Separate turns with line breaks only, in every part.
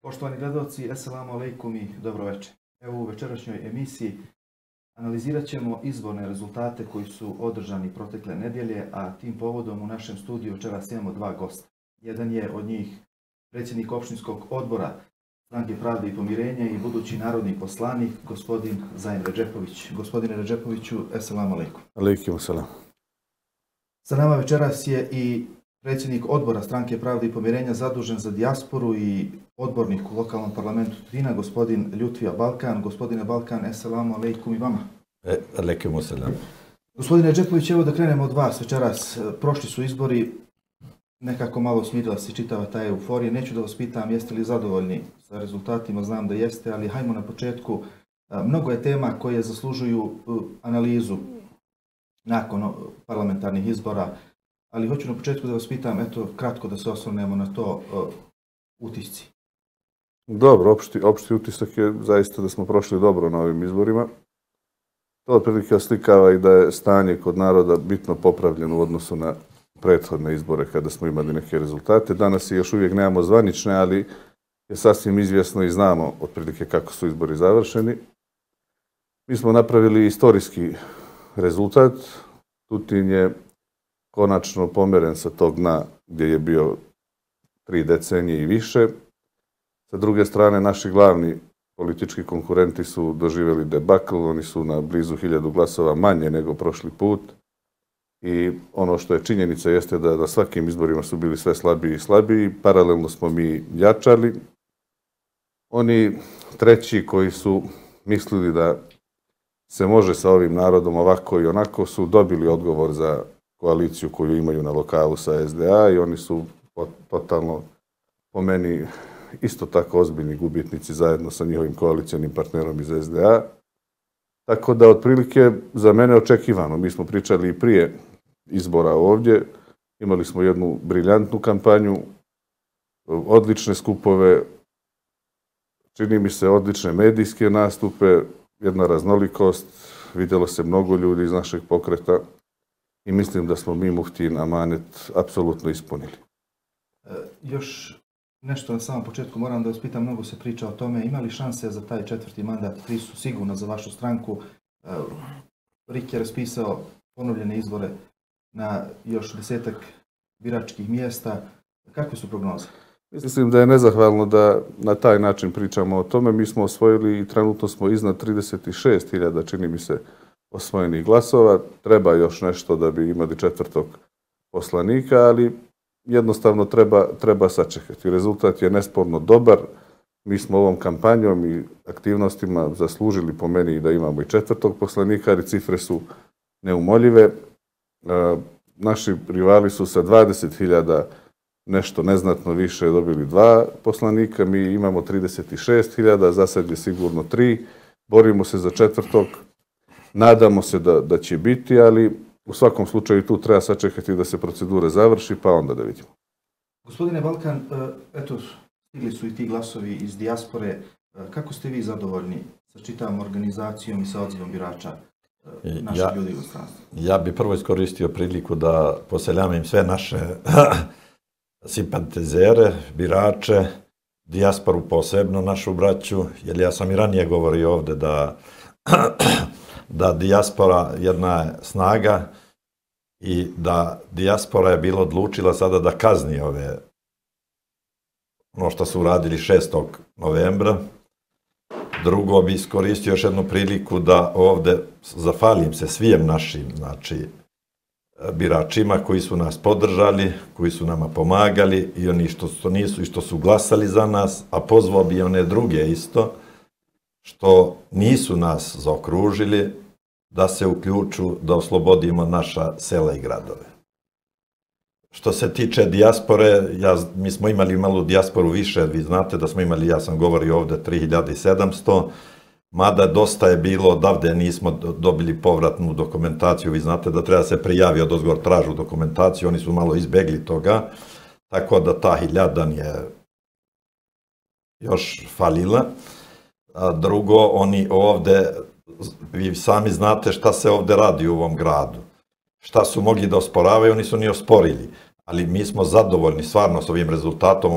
Poštovani gledalci, assalamu alaikum i dobro večer. Evo u večerašnjoj emisiji analizirat ćemo izborne rezultate koji su održani protekle nedjelje, a tim povodom u našem studiju večeras imamo dva gosta. Jedan je od njih predsjednik opštinskog odbora Stranke pravde i pomirenja i budući narodni poslanik, gospodin Zaim Redžepović. Gospodine Redžepoviću, assalamu alaikum.
Alaikum salam.
Sa nama večeras je i predsjednik odbora Stranke pravde i pomirenja zadužen za dijasporu i odbornik u lokalnom parlamentu Tutina, gospodin Ljutvija Balkan. Gospodine Balkan, assalamu alaikum i vama.
Alaikum salam.
Gospodine Redžepović, evo da krenemo od vas večeras. Prošli su izbori, nekako malo smirila se čitava ta euforija. Neću da vas pitam jeste li zadovoljni sa rezultatima, znam da jeste, ali hajmo na početku. Mnogo je tema koje zaslužuju analizu nakon parlamentarnih izbora, ali hoću na početku da vas pitam, eto, kratko da se osvrnemo na to, utisci.
Dobro, opšti utisak je zaista da smo prošli dobro na ovim izborima. To otprilike oslikava i da je stanje kod naroda bitno popravljeno u odnosu na prethodne izbore kada smo imali neke rezultate. Danas još uvijek nemamo zvanične, ali je sasvim izvjesno i znamo otprilike kako su izbori završeni. Mi smo napravili istorijski rezultat. Tutin je konačno pomeren sa tog dna gdje je bio 3 decenije i više. Sa druge strane, naši glavni politički konkurenti su doživjeli debakl, oni su na blizu 1000 glasova manje nego prošli put. I ono što je činjenica jeste da na svakim izborima su bili sve slabiji i slabiji, paralelno smo mi jačali. Oni treći koji su mislili da se može sa ovim narodom ovako i onako su dobili odgovor za koaliciju koju imaju na lokalu sa SDA i oni su totalno, po meni, isto tako ozbiljni gubitnici zajedno sa njihovim koalicionim partnerom iz SDA. Tako da, otprilike, za mene očekivano. Mi smo pričali i prije izbora ovdje. Imali smo jednu briljantnu kampanju, odlične skupove, čini mi se odlične medijske nastupe, jedna raznolikost, vidjelo se mnogo ljudi iz našeg pokreta i mislim da smo mi Muftijin amanet apsolutno ispunili.
Još nešto na samom početku moram da vas pitam, mnogo se priča o tome, ima li šanse za taj 4. mandat, 3 su sigurno za vašu stranku. RIK je raspisao ponovljene izbore na još 10-ak biračkih mjesta. Kakve su prognoze?
Mislim da je nezahvalno da na taj način pričamo o tome. Mi smo osvojili i trenutno smo iznad 36.000, čini mi se, osvojenih glasova. Treba još nešto da bi imali 4. poslanika, ali jednostavno treba sačekati. Rezultat je nesporno dobar. Mi smo ovom kampanjom i aktivnostima zaslužili po meni da imamo i 4. poslanika, ali cifre su neumoljive. Naši rivali su sa 20.000 nešto neznatno više dobili 2 poslanika, mi imamo 36.000, za sad je sigurno 3. Borimo se za 4. Nadamo se da će biti, ali u svakom slučaju tu treba sačekati da se procedura završi, pa onda da vidimo.
Gospodine Balkan, eto, stigli su i ti glasovi iz dijaspore. Kako ste vi zadovoljni sa čitavom organizacijom i sa odzivom birača naših ljudi u stranstvu?
Ja bi prvo iskoristio priliku da poseljamim sve naše simpatizere, birače, dijasporu posebno, našu braću, jer ja sam i ranije govorio ovdje da dijaspora jedna je snaga i da dijaspora je bila odlučila sada da kazni ono što su uradili 6. novembra. Drugo bi iskoristio još jednu priliku da ovdje zahvalim se svim našim, biračima koji su nas podržali, koji su nama pomagali i oni što nisu i što su glasali za nas, a pozvao bi one druge isto, što nisu nas zaokružili, da se uključu, da oslobodimo naša sela i gradove. Što se tiče dijaspore, mi smo imali malu dijasporu više, vi znate da smo imali, ja sam govorio ovdje, 3700, mada dosta je bilo, odavde nismo dobili povratnu dokumentaciju, vi znate da treba se prijavi od ozgor tražu dokumentaciju, oni su malo izbegli toga, tako da ta 1000 je još falila. Drugo, oni ovdje, vi sami znate šta se ovdje radi u ovom gradu. Šta su mogli da osporavaju, oni su ni osporili. ali mi smo zadovoljni stvarno s ovim rezultatom,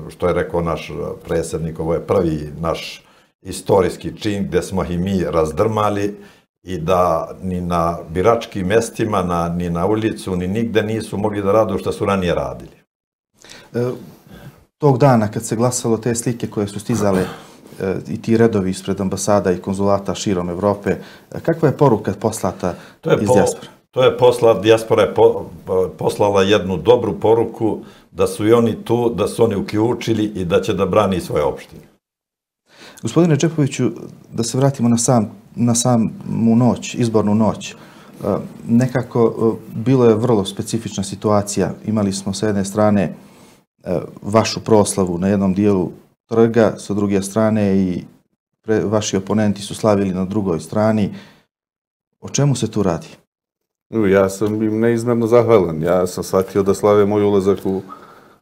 što je rekao naš predsjednik, ovo je prvi naš istorijski čin gdje smo i mi razdrmali i da ni na biračkim mestima, ni na ulicu, ni nigde nisu mogli da radu što su ranije radili.
Tog dana kad se glasalo, te slike koje su stizale i ti redovi ispred ambasada i konzulata širom Evrope, kakva je poruka poslata iz dijaspora?
Dijaspora je poslala jednu dobru poruku da su i oni tu, da su oni uključili i da će da brani svoje opštine.
Gospodine Čepoviću, da se vratimo na samu noć, izbornu noć. Nekako bilo je vrlo specifična situacija. Imali smo sa jedne strane vašu proslavu na jednom dijelu trga, sa druge strane i vaši oponenti su slavili na drugoj strani. O čemu se tu radi?
Ja sam im neizmjerno zahvalan. Ja sam shvatio da slave moj ulazak u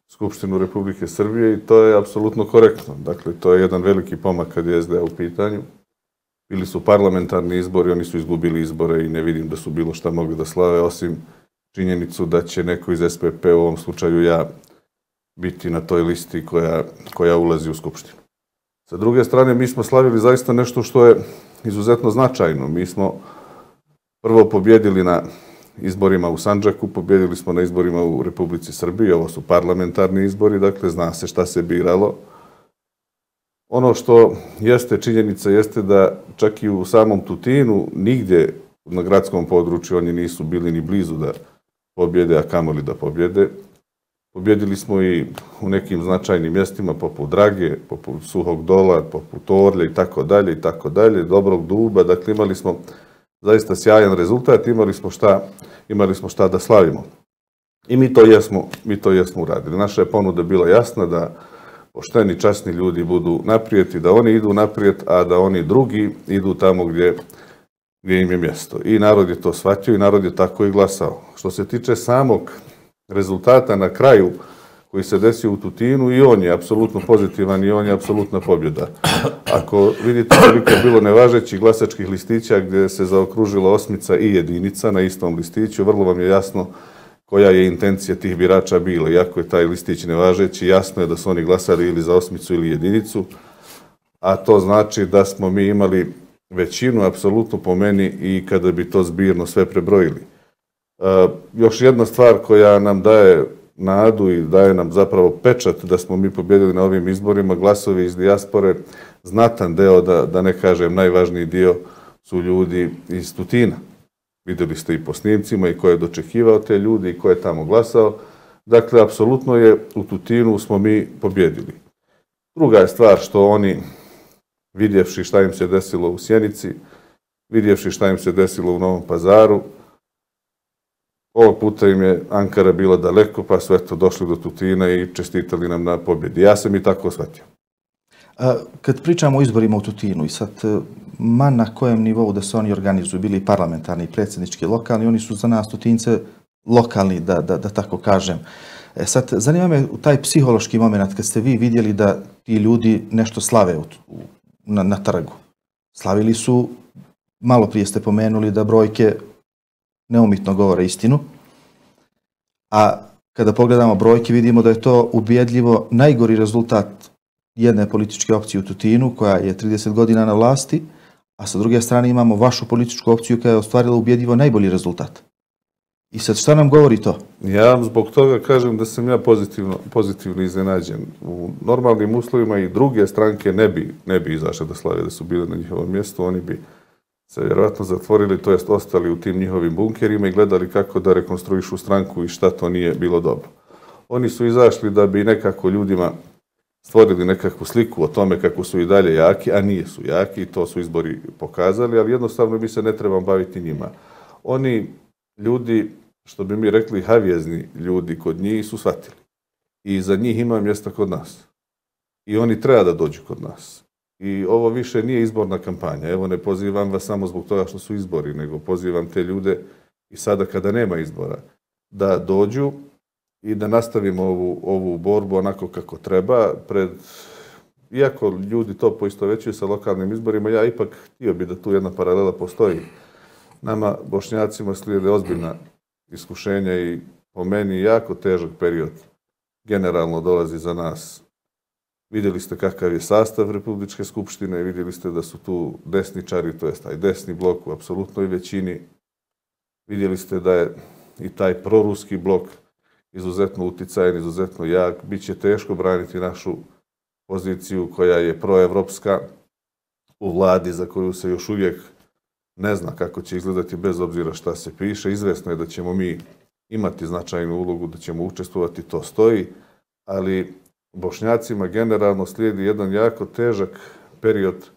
Skupštinu Republike Srbije i to je apsolutno korektno. Dakle, to je jedan veliki pomak kad je SDA u pitanju. Bili su parlamentarni izbori, oni su izgubili izbore i ne vidim da su bilo šta mogli da slave, osim činjenicu da će neko iz SPP, u ovom slučaju ja, biti na toj listi koja ulazi u Skupštinu. Sa druge strane, mi smo slavili zaista nešto što je izuzetno značajno. Mi smo prvo pobjedili na izborima u Sandžaku, pobjedili smo na izborima u Republici Srbiji, ovo su parlamentarni izbori, dakle zna se šta se biralo. Ono što jeste činjenica jeste da čak i u samom Tutinu nigdje na gradskom području oni nisu bili ni blizu da pobjede, a kamoli da pobjede. Pobjedili smo i u nekim značajnim mjestima poput Drage, poput Suhog Dola, poput Orlje i tako dalje, Dobrog Duba, dakle imali smo zaista sjajan rezultat, imali smo šta da slavimo. I mi to jesmo uradili. Naša je ponuda bila jasna da pošteni, časni ljudi budu naprijed i da oni idu naprijed, a da oni drugi idu tamo gdje im je mjesto. I narod je to shvatio i narod je tako i glasao. Što se tiče samog rezultata na kraju koji se desio u Tutinu, i on je apsolutno pozitivan i on je apsolutna pobjeda. Ako vidite koliko je bilo nevažećih glasačkih listića gdje se zaokružila osmica i jedinica na istom listiću, vrlo vam je jasno koja je intencija tih birača bila. Iako je taj listić nevažeći, jasno je da su oni glasali ili za osmicu ili jedinicu, a to znači da smo mi imali većinu, apsolutno po meni, i kada bi to zbirno sve prebrojili. Još jedna stvar koja nam daje nadu i daje nam zapravo pečat da smo mi pobjedili na ovim izborima, glasovi iz dijaspore, znatan deo, da ne kažem najvažniji dio, su ljudi iz Tutina. Vidjeli ste i po snimcima i ko je dočekivao te ljudi i ko je tamo glasao. Dakle, apsolutno je u Tutinu smo mi pobjedili. Druga je stvar što oni, vidjevši šta im se desilo u Sjenici, vidjevši šta im se desilo u Novom Pazaru, ovog puta im je Ankara bila daleko, pa su eto došli do Tutina i čestitali nam na pobjedi. Ja sam i tako shvatio.
Kad pričamo o izborima u Tutinu i sad, ma na kojem nivou da se oni organizuju, bili parlamentarni, predsjednički, lokalni, oni su za nas Tutince lokalni, da tako kažem. Sad, zanima me taj psihološki moment kad ste vi vidjeli da ti ljudi nešto slave na trgu. Slavili su, malo prije ste pomenuli da brojke neumitno govore istinu, a kada pogledamo brojke vidimo da je to ubjedljivo najgori rezultat jedne političke opcije u Tutinu koja je 30 godina na vlasti, a sa druge strane imamo vašu političku opciju koja je ostvarila ubjedljivo najbolji rezultat. I sad šta nam govori to?
Ja zbog toga kažem da sam ja pozitivno iznenađen. U normalnim uslovima i druge stranke ne bi izašle da slave da su bile na njihovom mjestu, oni bi se vjerojatno zatvorili, to jest ostali u tim njihovim bunkerima i gledali kako da rekonstruišu stranku i šta to nije bilo dobro. Oni su izašli da bi nekako ljudima stvorili nekakvu sliku o tome kako su i dalje jaki, a nije su jaki, to su izbori pokazali, ali jednostavno mi se ne trebamo baviti njima. Oni ljudi, što bi mi rekli havjezni ljudi kod njih, su shvatili. I za njih ima mjesta kod nas. I oni treba da dođu kod nas. I ovo više nije izborna kampanja. Evo, ne pozivam vas samo zbog toga što su izbori, nego pozivam te ljude i sada kada nema izbora, da dođu i da nastavimo ovu borbu onako kako treba. Iako ljudi to poistovećuju sa lokalnim izborima, ja ipak htio bi da tu jedna paralela postoji. Nama, Bošnjacima, slijede ozbiljna iskušenja i po meni jako težak period generalno dolazi za nas. Vidjeli ste kakav je sastav Republičke skupštine, vidjeli ste da su tu desničari, to jest taj desni blok u apsolutnoj većini. Vidjeli ste da je i taj proruski blok izuzetno uticajan, izuzetno jak. Biće teško braniti našu poziciju koja je proevropska u vladi za koju se još uvijek ne zna kako će izgledati bez obzira šta se piše. Izvesno je da ćemo mi imati značajnu ulogu, da ćemo učestvovati, to stoji, ali Bošnjacima generalno slijedi jedan jako težak period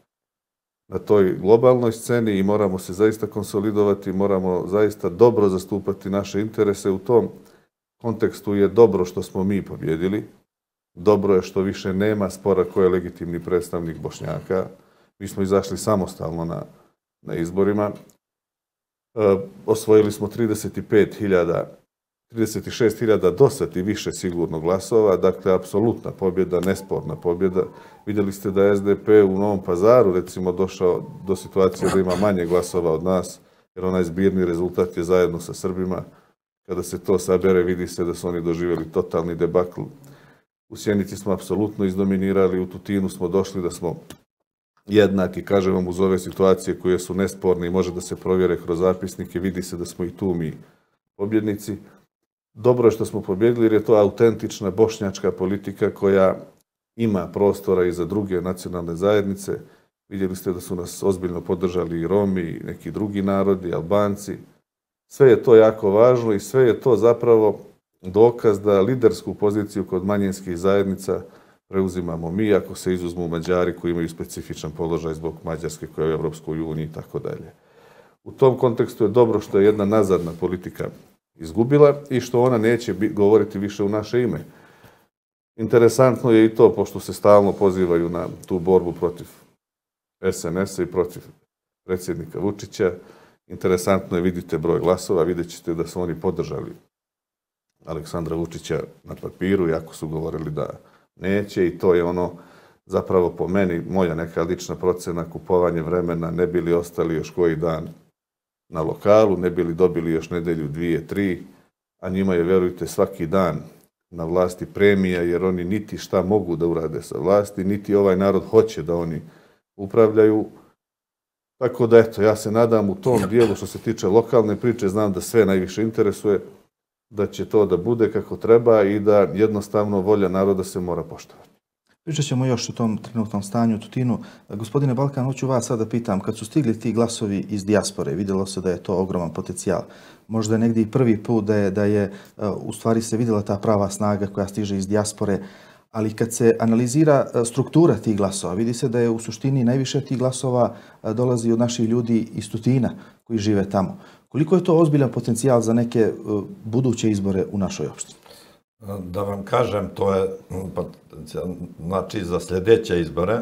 na toj globalnoj sceni i moramo se zaista konsolidovati, moramo zaista dobro zastupati naše interese. U tom kontekstu je dobro što smo mi pobjedili, dobro je što više nema spora ko je legitimni predstavnik Bošnjaka. Mi smo izašli samostalno na izborima. Osvojili smo 36.000 dosad i više sigurno glasova, dakle, apsolutna pobjeda, nesporna pobjeda. Vidjeli ste da je SDP u Novom Pazaru, recimo, došao do situacije da ima manje glasova od nas, jer onaj zbirni rezultat je zajedno sa Srbima. Kada se to sabere, vidi se da su oni doživjeli totalni debakl. U Sjenici smo apsolutno izdominirali, u Tutinu smo došli da smo jednaki, kažem vam, uz ove situacije koje su nesporne i može da se provjere kroz zapisnike, vidi se da smo i tu mi pobjednici. Dobro je što smo pobjedili jer je to autentična bošnjačka politika koja ima prostora i za druge nacionalne zajednice. Vidjeli ste da su nas ozbiljno podržali i Romi i neki drugi narodi, Albanci. Sve je to jako važno i sve je to zapravo dokaz da lidersku poziciju kod manjinskih zajednica preuzimamo mi, ako se izuzmu Mađari koji imaju specifičan položaj zbog Mađarske koja je u Europskoj uniji i tako dalje. U tom kontekstu je dobro što je jedna nazadna politika izgubila i što ona neće govoriti više u naše ime. Interesantno je i to, pošto se stalno pozivaju na tu borbu protiv SNS-a i protiv predsjednika Vučića. Interesantno je, vidite broj glasova, vidjet ćete da su oni podržali Aleksandra Vučića na papiru, iako su govorili da neće, i to je ono zapravo po meni, moja neka lična procena, kupovanje vremena, ne bili ostali još koji dan na lokalu, ne bili dobili još nedelju, 2, 3, a njima je, verujte, svaki dan na vlasti premija, jer oni niti šta mogu da urade sa vlasti, niti ovaj narod hoće da oni upravljaju. Tako da, eto, ja se nadam u tom dijelu što se tiče lokalne priče, znam da sve najviše interesuje, da će to da bude kako treba i da jednostavno volja naroda se mora poštovati.
Pričat ćemo još o tom trenutnom stanju u Tutinu. Gospodine Balkan, hoću vas sada pitam, kad su stigli ti glasovi iz dijaspore, vidjelo se da je to ogroman potencijal. Možda je negdje i prvi put da je u stvari se vidjela ta prava snaga koja stiže iz dijaspore, ali kad se analizira struktura tih glasova, vidi se da je u suštini najviše tih glasova dolazi od naših ljudi iz Tutina koji žive tamo. Koliko je to ozbiljan potencijal za neke buduće izbore u našoj opštini?
Da vam kažem, to je, znači, za sljedeće izbore,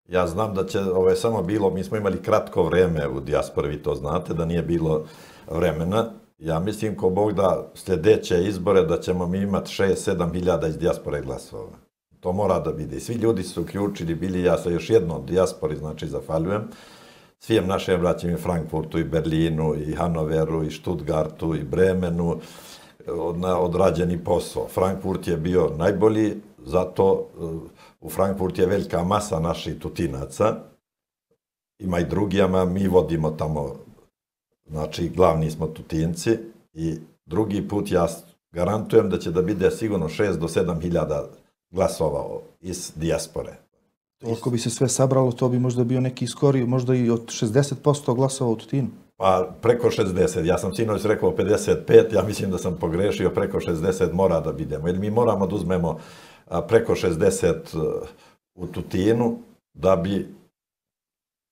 ja znam da će, ovo je samo bilo, mi smo imali kratko vreme u dijaspori, vi to znate, da nije bilo vremena. Ja mislim, ko Bog da sljedeće izbore, da ćemo mi imati 6-7 hiljada iz dijaspore glasova. To mora da vidi. Svi ljudi su uključili, bili, ja se još jednom dijaspori, znači, zahvaljujem. Svijem našem braćim i Frankfurtu, i Berlinu, i Hanoveru, i Stuttgartu, i Bremenu, odrađeni posao. Frankfurt je bio najbolji, zato u Frankfurt je velika masa naših Tutinaca. Ima i drugijama, mi vodimo tamo, znači glavni smo Tutinci, i drugi put ja garantujem da će da bude sigurno 6 do 7 hiljada glasova iz dijaspore.
Ako bi se sve sabralo, to bi možda bio neki skori, možda i od 60% glasova u Tutinu.
Pa preko 60, ja sam sinoć rekao 55, ja mislim da sam pogrešio, preko 60 mora da bidemo. Jer mi moramo da uzmemo preko 60 u Tutinu, da bi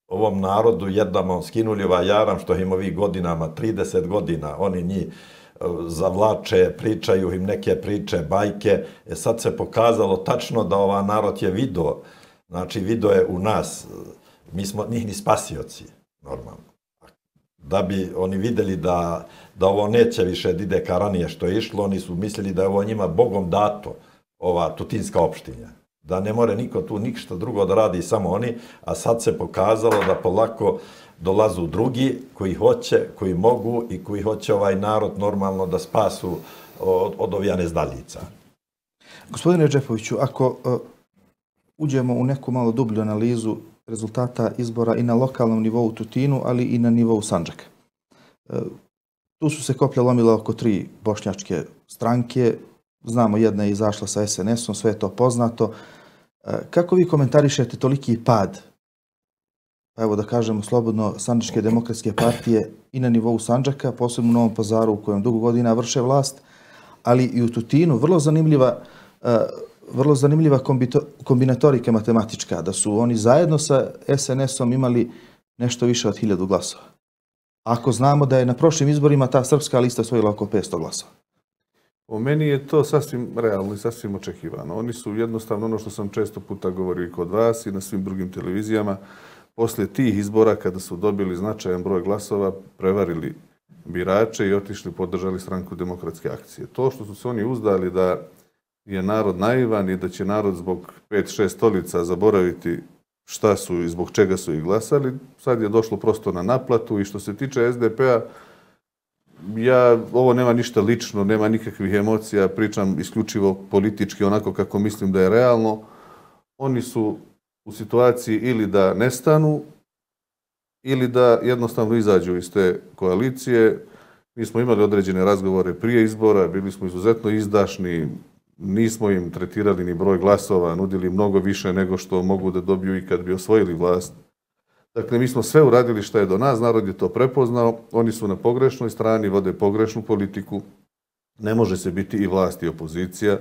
ovom narodu jednamo skinuli ovaj jaram što im ovih godinama, 30 godina, oni njih zavlače, pričaju im neke priče, bajke. Sad se pokazalo tačno da ovaj narod je video, znači video je u nas, mi smo njih ni spasioci, normalno. Da bi oni vidjeli da ovo neće više da ide ka ranije što je išlo, oni su mislili da je ovo njima Bogom dato, ova tutinska opštinja. Da ne more niko tu ništa drugo da radi, samo oni, a sad se pokazalo da polako dolazu drugi koji hoće, koji mogu i koji hoće ovaj narod normalno da spasu od ovih nezdaljica.
Gospodine Džepoviću, ako uđemo u neku malo dublju analizu rezultata izbora i na lokalnom nivou u Tutinu, ali i na nivou Sandžaka. Tu su se koplja lomile oko 3 bošnjačke stranke. Znamo, jedna je izašla sa SNS-om, sve je to poznato. Kako vi komentarišete toliki pad, evo da kažemo slobodno, Sandžačke demokratske partije i na nivou Sandžaka, posebno u Novom Pazaru u kojem dugo godina vrše vlast, ali i u Tutinu, vrlo zanimljiva kombinatorika matematička, da su oni zajedno sa SNS-om imali nešto više od 1000 glasova. Ako znamo da je na prošlim izborima ta srpska lista osvojila oko 500 glasova.
Po meni je to sasvim realno i sasvim očekivano. Oni su jednostavno, ono što sam često puta govorio i kod vas i na svim drugim televizijama, poslije tih izbora kada su dobili značajan broj glasova, prevarili birače i otišli, podržali stranku Demokratske akcije. To što su se oni uzdali da je narod naivan i da će narod zbog 5-6 stolica zaboraviti šta su i zbog čega su ih glasali, sad je došlo prosto na naplatu. I što se tiče SDP-a, ovo nema ništa lično, nema nikakvih emocija, pričam isključivo politički, onako kako mislim da je realno. Oni su u situaciji ili da nestanu, ili da jednostavno izađu iz te koalicije. Mi smo imali određene razgovore prije izbora, bili smo izuzetno izdašni, nismo im tretirali ni broj glasova, nudili mnogo više nego što mogu da dobiju i kad bi osvojili vlast. Dakle, mi smo sve uradili što je do nas, narod je to prepoznao, oni su na pogrešnoj strani, vode pogrešnu politiku, ne može se biti i vlast i opozicija,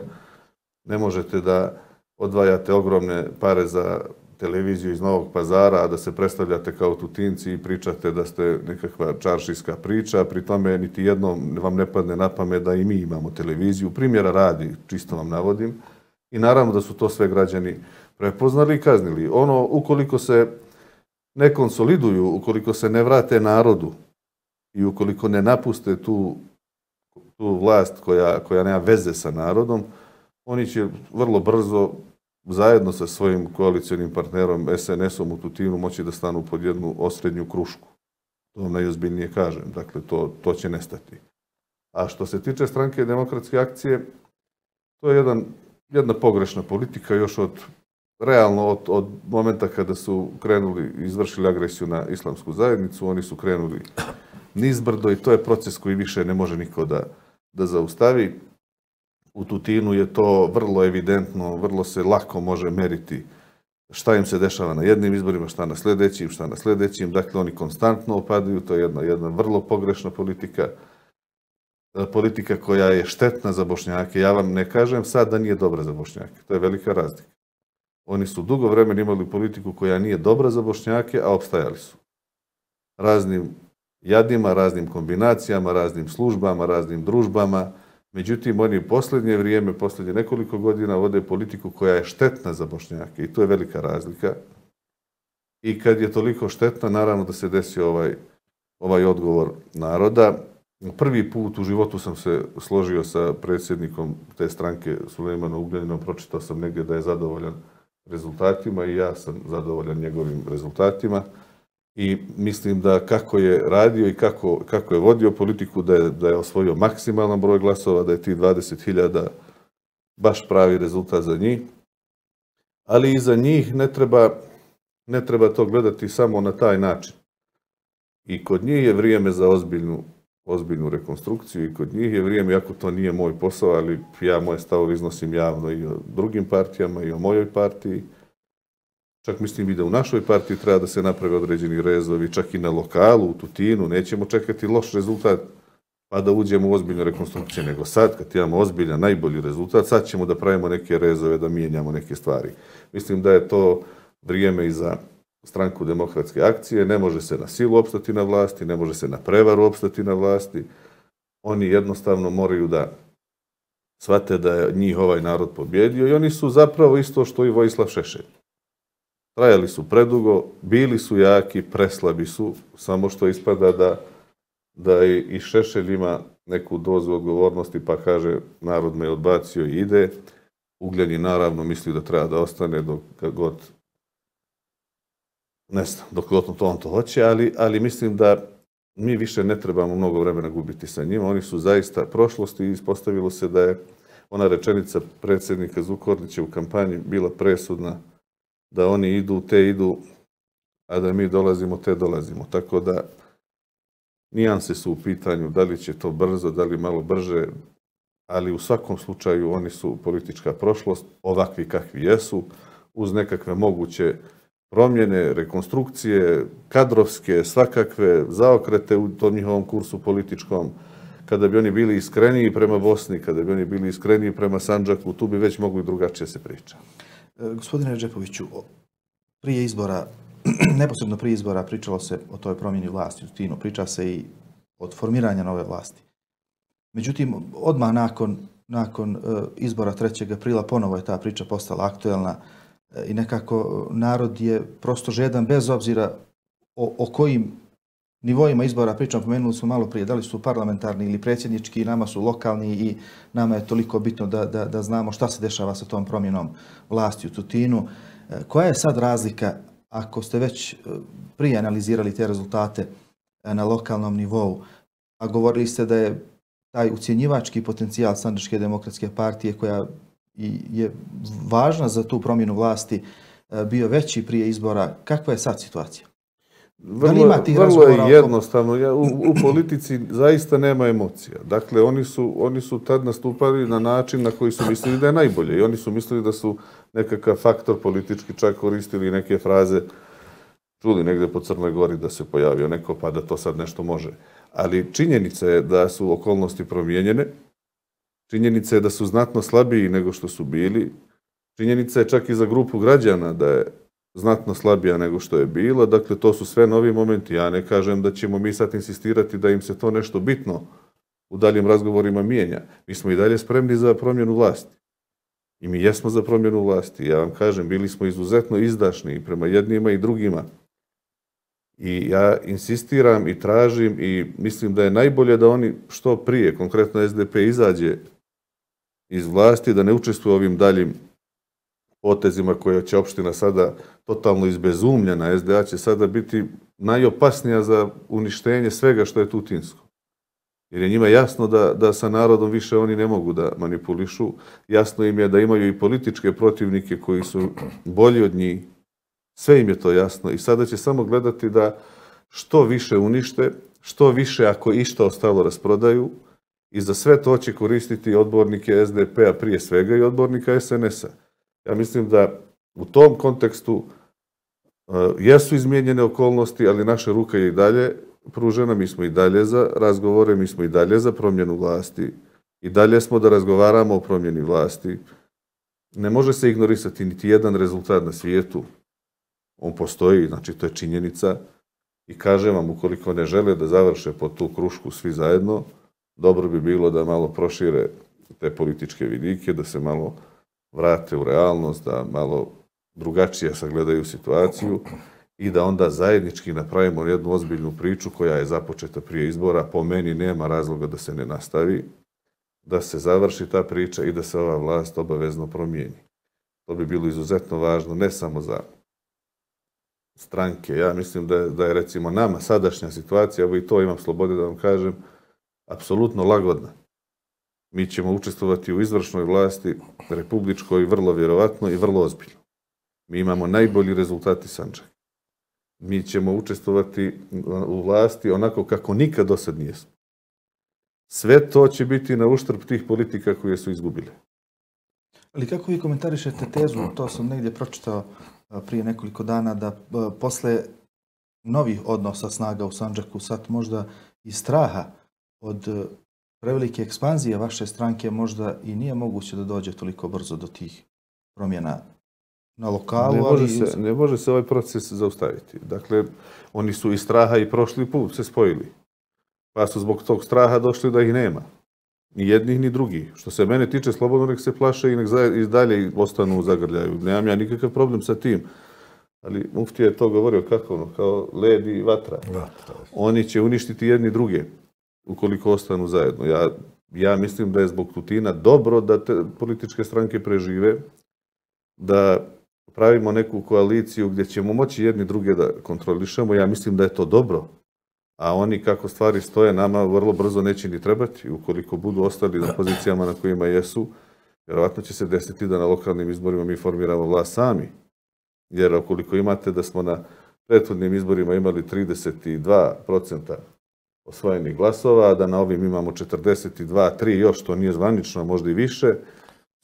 ne možete da odvajate ogromne pare za televiziju iz Novog Pazara, a da se predstavljate kao Tutinci i pričate da ste nekakva čaršijska priča, pri tome niti jednom vam ne padne na pamet da i mi imamo televiziju. Primjera radi, čisto vam navodim, i naravno da su to sve građani prepoznali i kaznili. Ukoliko se ne konsoliduju, ukoliko se ne vrate narodu i ukoliko ne napuste tu vlast koja nema veze sa narodom, oni će vrlo brzo zajedno sa svojim koalicionim partnerom SNS-om u Tutinu moći da stanu pod jednu osrednju krušku. To vam najozbiljnije kažem. Dakle, to će nestati. A što se tiče stranke Demokratske akcije, to je jedna pogrešna politika još realno od momenta kada su izvršili agresiju na islamsku zajednicu, oni su krenuli nizbrdo i to je proces koji više ne može niko da zaustavi. U Tutinu je to vrlo evidentno, vrlo se lako može meriti šta im se dešava na jednim izborima, šta na sljedećim. Dakle, oni konstantno opadaju, to je jedna vrlo pogrešna politika. Politika koja je štetna za Bošnjake. Ja vam ne kažem sad da nije dobra za Bošnjake. To je velika razlika. Oni su dugo vremena imali politiku koja nije dobra za Bošnjake, a opstajali su. Raznim jadima, raznim kombinacijama, raznim službama, raznim družbama. Međutim, oni u posljednje nekoliko godina vode politiku koja je štetna za Bošnjake i to je velika razlika. I kad je toliko štetna, naravno da se desi ovaj odgovor naroda. Prvi put u životu sam se složio sa predsjednikom te stranke Sulejmanom Ugljaninom, pročitao sam negdje da je zadovoljan rezultatima i ja sam zadovoljan njegovim rezultatima. I mislim da kako je radio i kako je vodio politiku, da je osvojio maksimalan broj glasova, da je tih 20.000 baš pravi rezultat za njih. Ali i za njih ne treba to gledati samo na taj način. I kod njih je vrijeme za ozbiljnu rekonstrukciju i kod njih je vrijeme, iako to nije moj posao, ali ja moje stavove iznosim javno i o drugim partijama i o mojoj partiji. Čak mislim i da u našoj partiji treba da se naprave određeni rezovi, čak i na lokalu, u Tutinu. Nećemo čekati loš rezultat pa da uđemo u ozbiljnu rekonstrukciju, nego sad kad imamo ozbiljan, najbolji rezultat, sad ćemo da pravimo neke rezove, da mijenjamo neke stvari. Mislim da je to vrijeme i za stranku Demokratske akcije. Ne može se na silu opstati na vlasti, ne može se na prevaru opstati na vlasti. Oni jednostavno moraju da shvate da je njih ovaj narod pobjedio i oni su zapravo isto što i Vojislav Šešelj. Trajali su predugo, bili su jaki, preslabi su, samo što ispada da i Šešelj ima neku dozu odgovornosti pa kaže narod me odbacio i ide. Ugljanin naravno misli da treba da ostane dok god Ne znam, dok on to hoće, ali mislim da mi više ne trebamo mnogo vremena gubiti sa njima. Oni su zaista prošlosti i ispostavilo se da je ona rečenica predsjednika Zukorlića u kampanji bila presudna, da oni idu, te idu, a da mi dolazimo, te dolazimo. Tako da nijanse su u pitanju, da li će to brzo, da li malo brže, ali u svakom slučaju oni su politička prošlost, ovakvi kakvi jesu, uz nekakve moguće promjene, rekonstrukcije, kadrovske, svakakve zaokrete u tom njihovom kursu političkom. Kada bi oni bili iskreniji prema Bosni, kada bi oni bili iskreniji prema Sandžaku, tu bi već mogli drugačije se priča.
Gospodine Redžepoviću, prije izbora, neposredno prije izbora pričalo se o toj promjeni vlasti u Tutinu, priča se i od formiranja nove vlasti. Međutim, odmah nakon izbora 3. aprila ponovo je ta priča postala aktuelna i nekako narod je prosto žedan bez obzira o kojim nivoima izbora pričamo, pomenuli smo malo prije, da li su parlamentarni ili predsjednički, nama su lokalni i nama je toliko bitno da znamo šta se dešava sa tom promjenom vlasti u Tutinu. Koja je sad razlika, ako ste već prije analizirali te rezultate na lokalnom nivou, a govorili ste da je taj ucjenjivački potencijal Sandžačke demokratske partije, koja je važna za tu promjenu vlasti, bio veći prije izbora, kakva je sad situacija?
Vrlo je jednostavno. U politici zaista nema emocija. Dakle, oni su tad nastupali na način na koji su mislili da je najbolje. I oni su mislili da su nekakav faktor politički, čak koristili neke fraze, čuli negdje po Crnoj Gori da se pojavio neko pa da to sad nešto može. Ali činjenica je da su okolnosti promijenjene, činjenica je da su znatno slabiji nego što su bili, činjenica je čak i za grupu građana da je znatno slabija nego što je bilo. Dakle, to su sve novi momenti. Ja ne kažem da ćemo mi sad insistirati da im se to nešto bitno u daljim razgovorima mijenja. Mi smo i dalje spremni za promjenu vlasti. I mi jesmo za promjenu vlasti. Ja vam kažem, bili smo izuzetno izdašni i prema jednima i drugima. I ja insistiram i tražim i mislim da je najbolje da oni što prije, konkretno SDP, izađe iz vlasti, da ne učestvuje u ovim daljim potezima koje će opština sada totalno izbezumljena. SDA će sada biti najopasnija za uništenje svega što je tutinsko. Jer je njima jasno da sa narodom više oni ne mogu da manipulišu. Jasno im je da imaju i političke protivnike koji su bolji od njih. Sve im je to jasno i sada će samo gledati da što više unište, što više ako išta ostalo rasprodaju i za sve to će koristiti odbornike SDP-a prije svega i odbornika SNS-a. Ja mislim da u tom kontekstu jesu izmijenjene okolnosti, ali naša ruka je i dalje pružena, mi smo i dalje za razgovore, mi smo i dalje za promjenu vlasti, i dalje smo da razgovaramo o promjeni vlasti. Ne može se ignorisati niti jedan rezultat na svijetu. On postoji, znači to je činjenica i kažem vam, ukoliko ne žele da završe pod tu krušku svi zajedno, dobro bi bilo da malo prošire te političke vidike, da se malo vrate u realnost, da malo drugačije sagledaju situaciju i da onda zajednički napravimo jednu ozbiljnu priču koja je započeta prije izbora. Po meni nema razloga da se ne nastavi, da se završi ta priča i da se ova vlast obavezno promijeni. To bi bilo izuzetno važno, ne samo za stranke. Ja mislim da je recimo nama sadašnja situacija, evo i to imam slobode da vam kažem, apsolutno lagodna. Mi ćemo učestvovati u izvršnoj vlasti, republičkoj, vrlo vjerovatno i vrlo ozbiljno. Mi imamo najbolji rezultati Sandžaka. Mi ćemo učestvovati u vlasti onako kako nikad do sad nijesmo. Sve to će biti na uštrb tih politika koje su izgubile.
Ali kako vi komentarišete tezu, to sam negdje pročitao prije nekoliko dana, da posle novih odnosa snaga u Sandžaku, sad možda i straha od prevelike ekspanzije vaše stranke, možda i nije moguće da dođe toliko brzo do tih promjena na lokalu.
Ne može se ovaj proces zaustaviti. Dakle, oni su iz straha i prošli put se spojili. Pa su zbog tog straha došli da ih nema. Ni jednih, ni drugih. Što se mene tiče, slobodno nek se plaše i nek i dalje ostanu u zagrljaju. Nemam ja nikakav problem sa tim. Ali muftija je to govorio kako kao led i vatra. Oni će uništiti jedni druge ukoliko ostanu zajedno. Ja mislim da je zbog Tutina dobro da te političke stranke prežive, da pravimo neku koaliciju gdje ćemo moći jedni druge da kontrolišemo, ja mislim da je to dobro. A oni kako stvari stoje nama vrlo brzo neće ni trebati. Ukoliko budu ostali na pozicijama na kojima jesu, vjerovatno će se desiti da na lokalnim izborima mi formiramo vlast sami. Jer ukoliko imate da smo na prethodnim izborima imali 32% osvojenih glasova, a da na ovim imamo 42, 3 još, to nije zvanično, možda i više,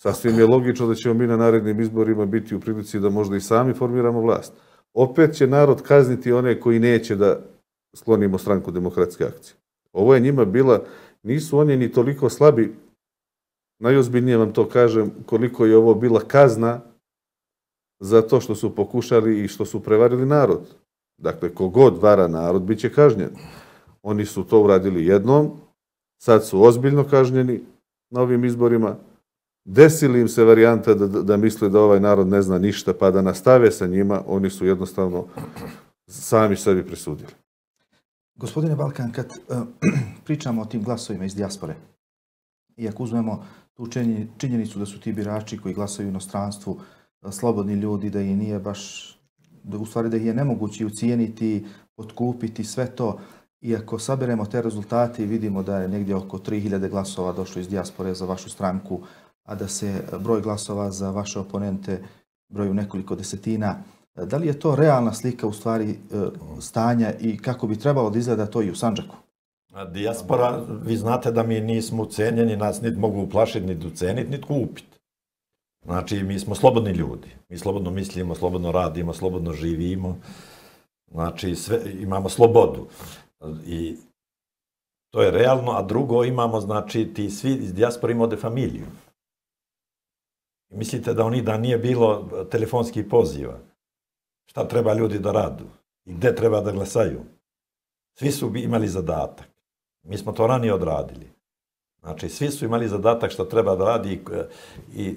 sasvim je logično da ćemo mi na narednim izborima biti u prilici da možda i sami formiramo vlast. Opet će narod kazniti one koji neće da sklonimo Stranku demokratske akcije. Ovo je njima bila, nisu oni ni toliko slabi, najozbiljnije vam to kažem, koliko je ovo bila kazna za to što su pokušali i što su prevarili narod. Dakle, kogod vara narod, bit će kažnjen. Oni su to uradili jednom, sad su ozbiljno kažnjeni na ovim izborima. Desili im se varijanta da misle da ovaj narod ne zna ništa, pa da nastave sa njima, oni su jednostavno sami sebi presudili.
Gospodine Balkan, kad pričamo o tim glasovima iz dijaspore, i ako uzmemo tu činjenicu da su ti birači koji glasaju u inostranstvu slobodni ljudi, da ih nije baš, u stvari da ih je nemoguće ucijeniti, otkupiti sve to, i ako saberemo te rezultate i vidimo da je negdje oko 3000 glasova došlo iz dijaspore za vašu stranku, a da se broj glasova za vaše oponente broju nekoliko desetina, da li je to realna slika u stvari stanja i kako bi trebalo da izgleda to i u Sandžaku?
Dijaspora, vi znate da mi nismo ucenjeni, nas niti mogu uplašiti, niti uceniti, niti kupiti. Znači, mi smo slobodni ljudi. Mi slobodno mislimo, slobodno radimo, slobodno živimo. Znači, imamo slobodu. I to je realno, a drugo imamo, znači, ti svi iz dijaspora imaju familiju. Mislite da nije bilo telefonskih poziva? Šta treba ljudi da radu? I gde treba da glasaju? Svi su imali zadatak. Mi smo to ranije odradili. Znači, svi su imali zadatak što treba da radi i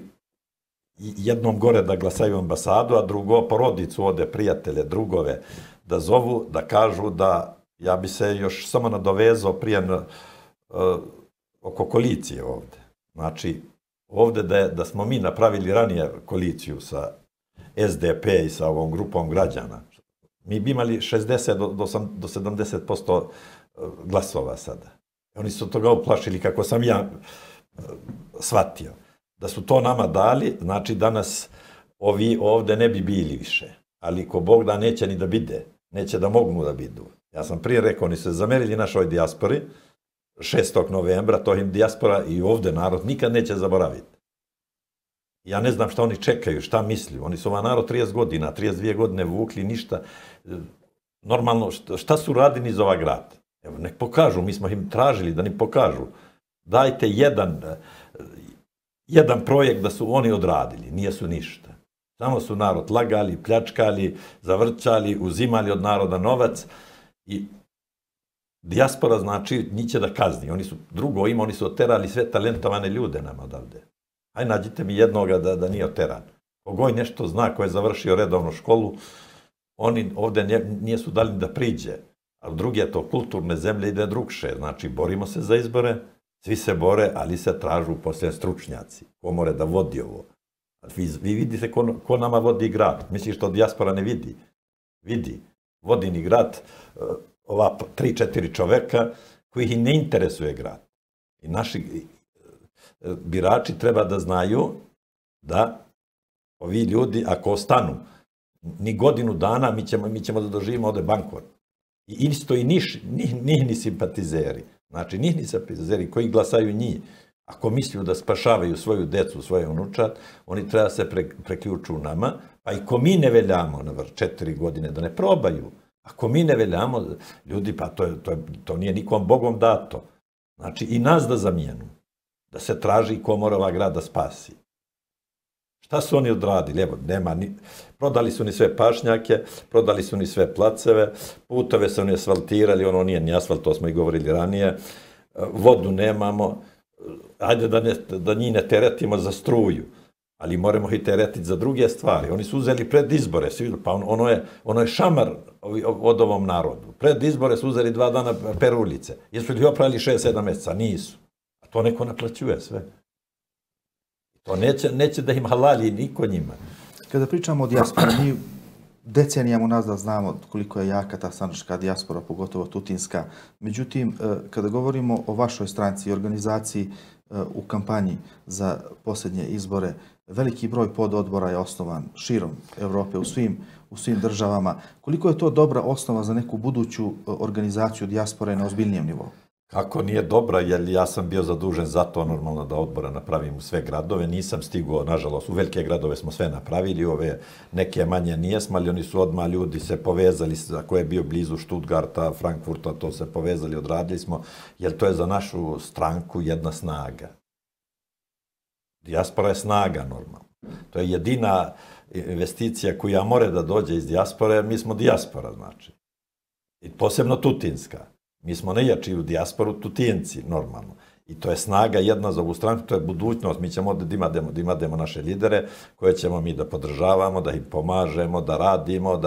jednom gore da glasaju ambasadu, a drugo porodicu ode, prijatelje, drugove, da zovu, da kažu da ja bi se još samo nadovezao prije oko koalicije ovde. Znači, ovde da smo mi napravili ranije koaliciju sa SDP i sa ovom grupom građana, mi bi imali 60 do 70% glasova sada. Oni su toga uplašili, kako sam ja shvatio. Da su to nama dali, znači danas ovi ovde ne bi bili više. Ali ko Bog da neće ni da bide, neće da mogu da bidu. Ja sam prije rekao, oni su se zamerili našoj dijaspori, 6. novembra, to im dijaspora i ovde narod nikad neće zaboraviti. Ja ne znam šta oni čekaju, šta misli. Oni su ovaj narod 30 godina, 32 godine vukli, ništa. Normalno, šta su radili za ovaj grad? Evo, nek pokažu, mi smo im tražili da ni pokažu. Dajte jedan projekt da su oni odradili, nije su ništa. Samo su narod lagali, pljačkali, zavrćali, uzimali od naroda novac i dijaspora znači njih će da kazni. Oni su oni su oterali sve talentovane ljude nama odavde. Aj nađite mi jednoga da nije oteran. Kogoj nešto zna, ko je završio redovnu školu, oni ovde nije su dali da priđe. A druge to kulturne zemlje ide drugše. Znači, borimo se za izbore, svi se bore, ali se tražu poslije stručnjaci. Ko more da vodi ovo? Vi vidite ko nama vodi grad. Misliš što dijaspora ne vidi? Vidi. Vodi ni grad ova 3-4 čoveka koji ih ne interesuje grad. I naši birači treba da znaju da ovi ljudi, ako ostanu ni godinu dana, mi ćemo da doživimo ovde bankrot. I isto i njih ni simpatizeri. Znači, njih ni simpatizeri koji glasaju njih. Ako misliju da spašavaju svoju decu, svoje unučat, oni treba se preključu nama, pa i ko mi ne veljamo na 4 godine da ne probaju. Ako mi ne veljamo, ljudi, pa to nije nikom Bogom dato. Znači, i nas da zamijenu. Da se traži ko mora ova grad da spasi. Šta su oni odradili? Evo, prodali su ni sve pašnjake, prodali su ni sve placeve, putove su ni asfaltirali, ono nije ni asfalt, to smo i govorili ranije, vodu nemamo, ajde da njih ne teretimo za struju, ali moramo ih teretiti za druge stvari. Oni su uzeli pred izbore, pa ono je šamar od ovom narodu. Pred izbore su uzeli 2 dana peruljice. Jesu li opravili 6-7 mjeseca? Nisu. A to neko naplaćuje sve. To neće da im halali niko njima.
Kada pričamo o dijaspori, mi decenijama unazad znamo koliko je jaka ta sandžačka dijaspora, pogotovo tutinska. Međutim, kada govorimo o vašoj stranci i organizaciji u kampanji za posljednje izbore, veliki broj pododbora je osnovan širom Evrope, u svim državama. Koliko je to dobra osnova za neku buduću organizaciju dijaspore na ozbiljnijem nivou?
Kako nije dobra, jer ja sam bio zadužen za to normalno da odbora napravim u sve gradove. Nisam stigao, nažalost, u velike gradove smo sve napravili, ove neke manje nijesmo, ali oni su odmah ljudi se povezali, ako je bio blizu Stuttgarta, Frankfurta, to se povezali, odradili smo, jer to je za našu stranku jedna snaga. Dijaspora je snaga normalno. To je jedina investicija koja mora da dođe iz dijaspore, jer mi smo dijaspora, znači. I posebno tutinska. Mi smo najjači u dijasporu, Tutinci, normalno. I to je snaga jedna za ovu stranku, to je budućnost. Mi ćemo da imademo naše lidere koje ćemo mi da podržavamo, da im pomažemo, da radimo,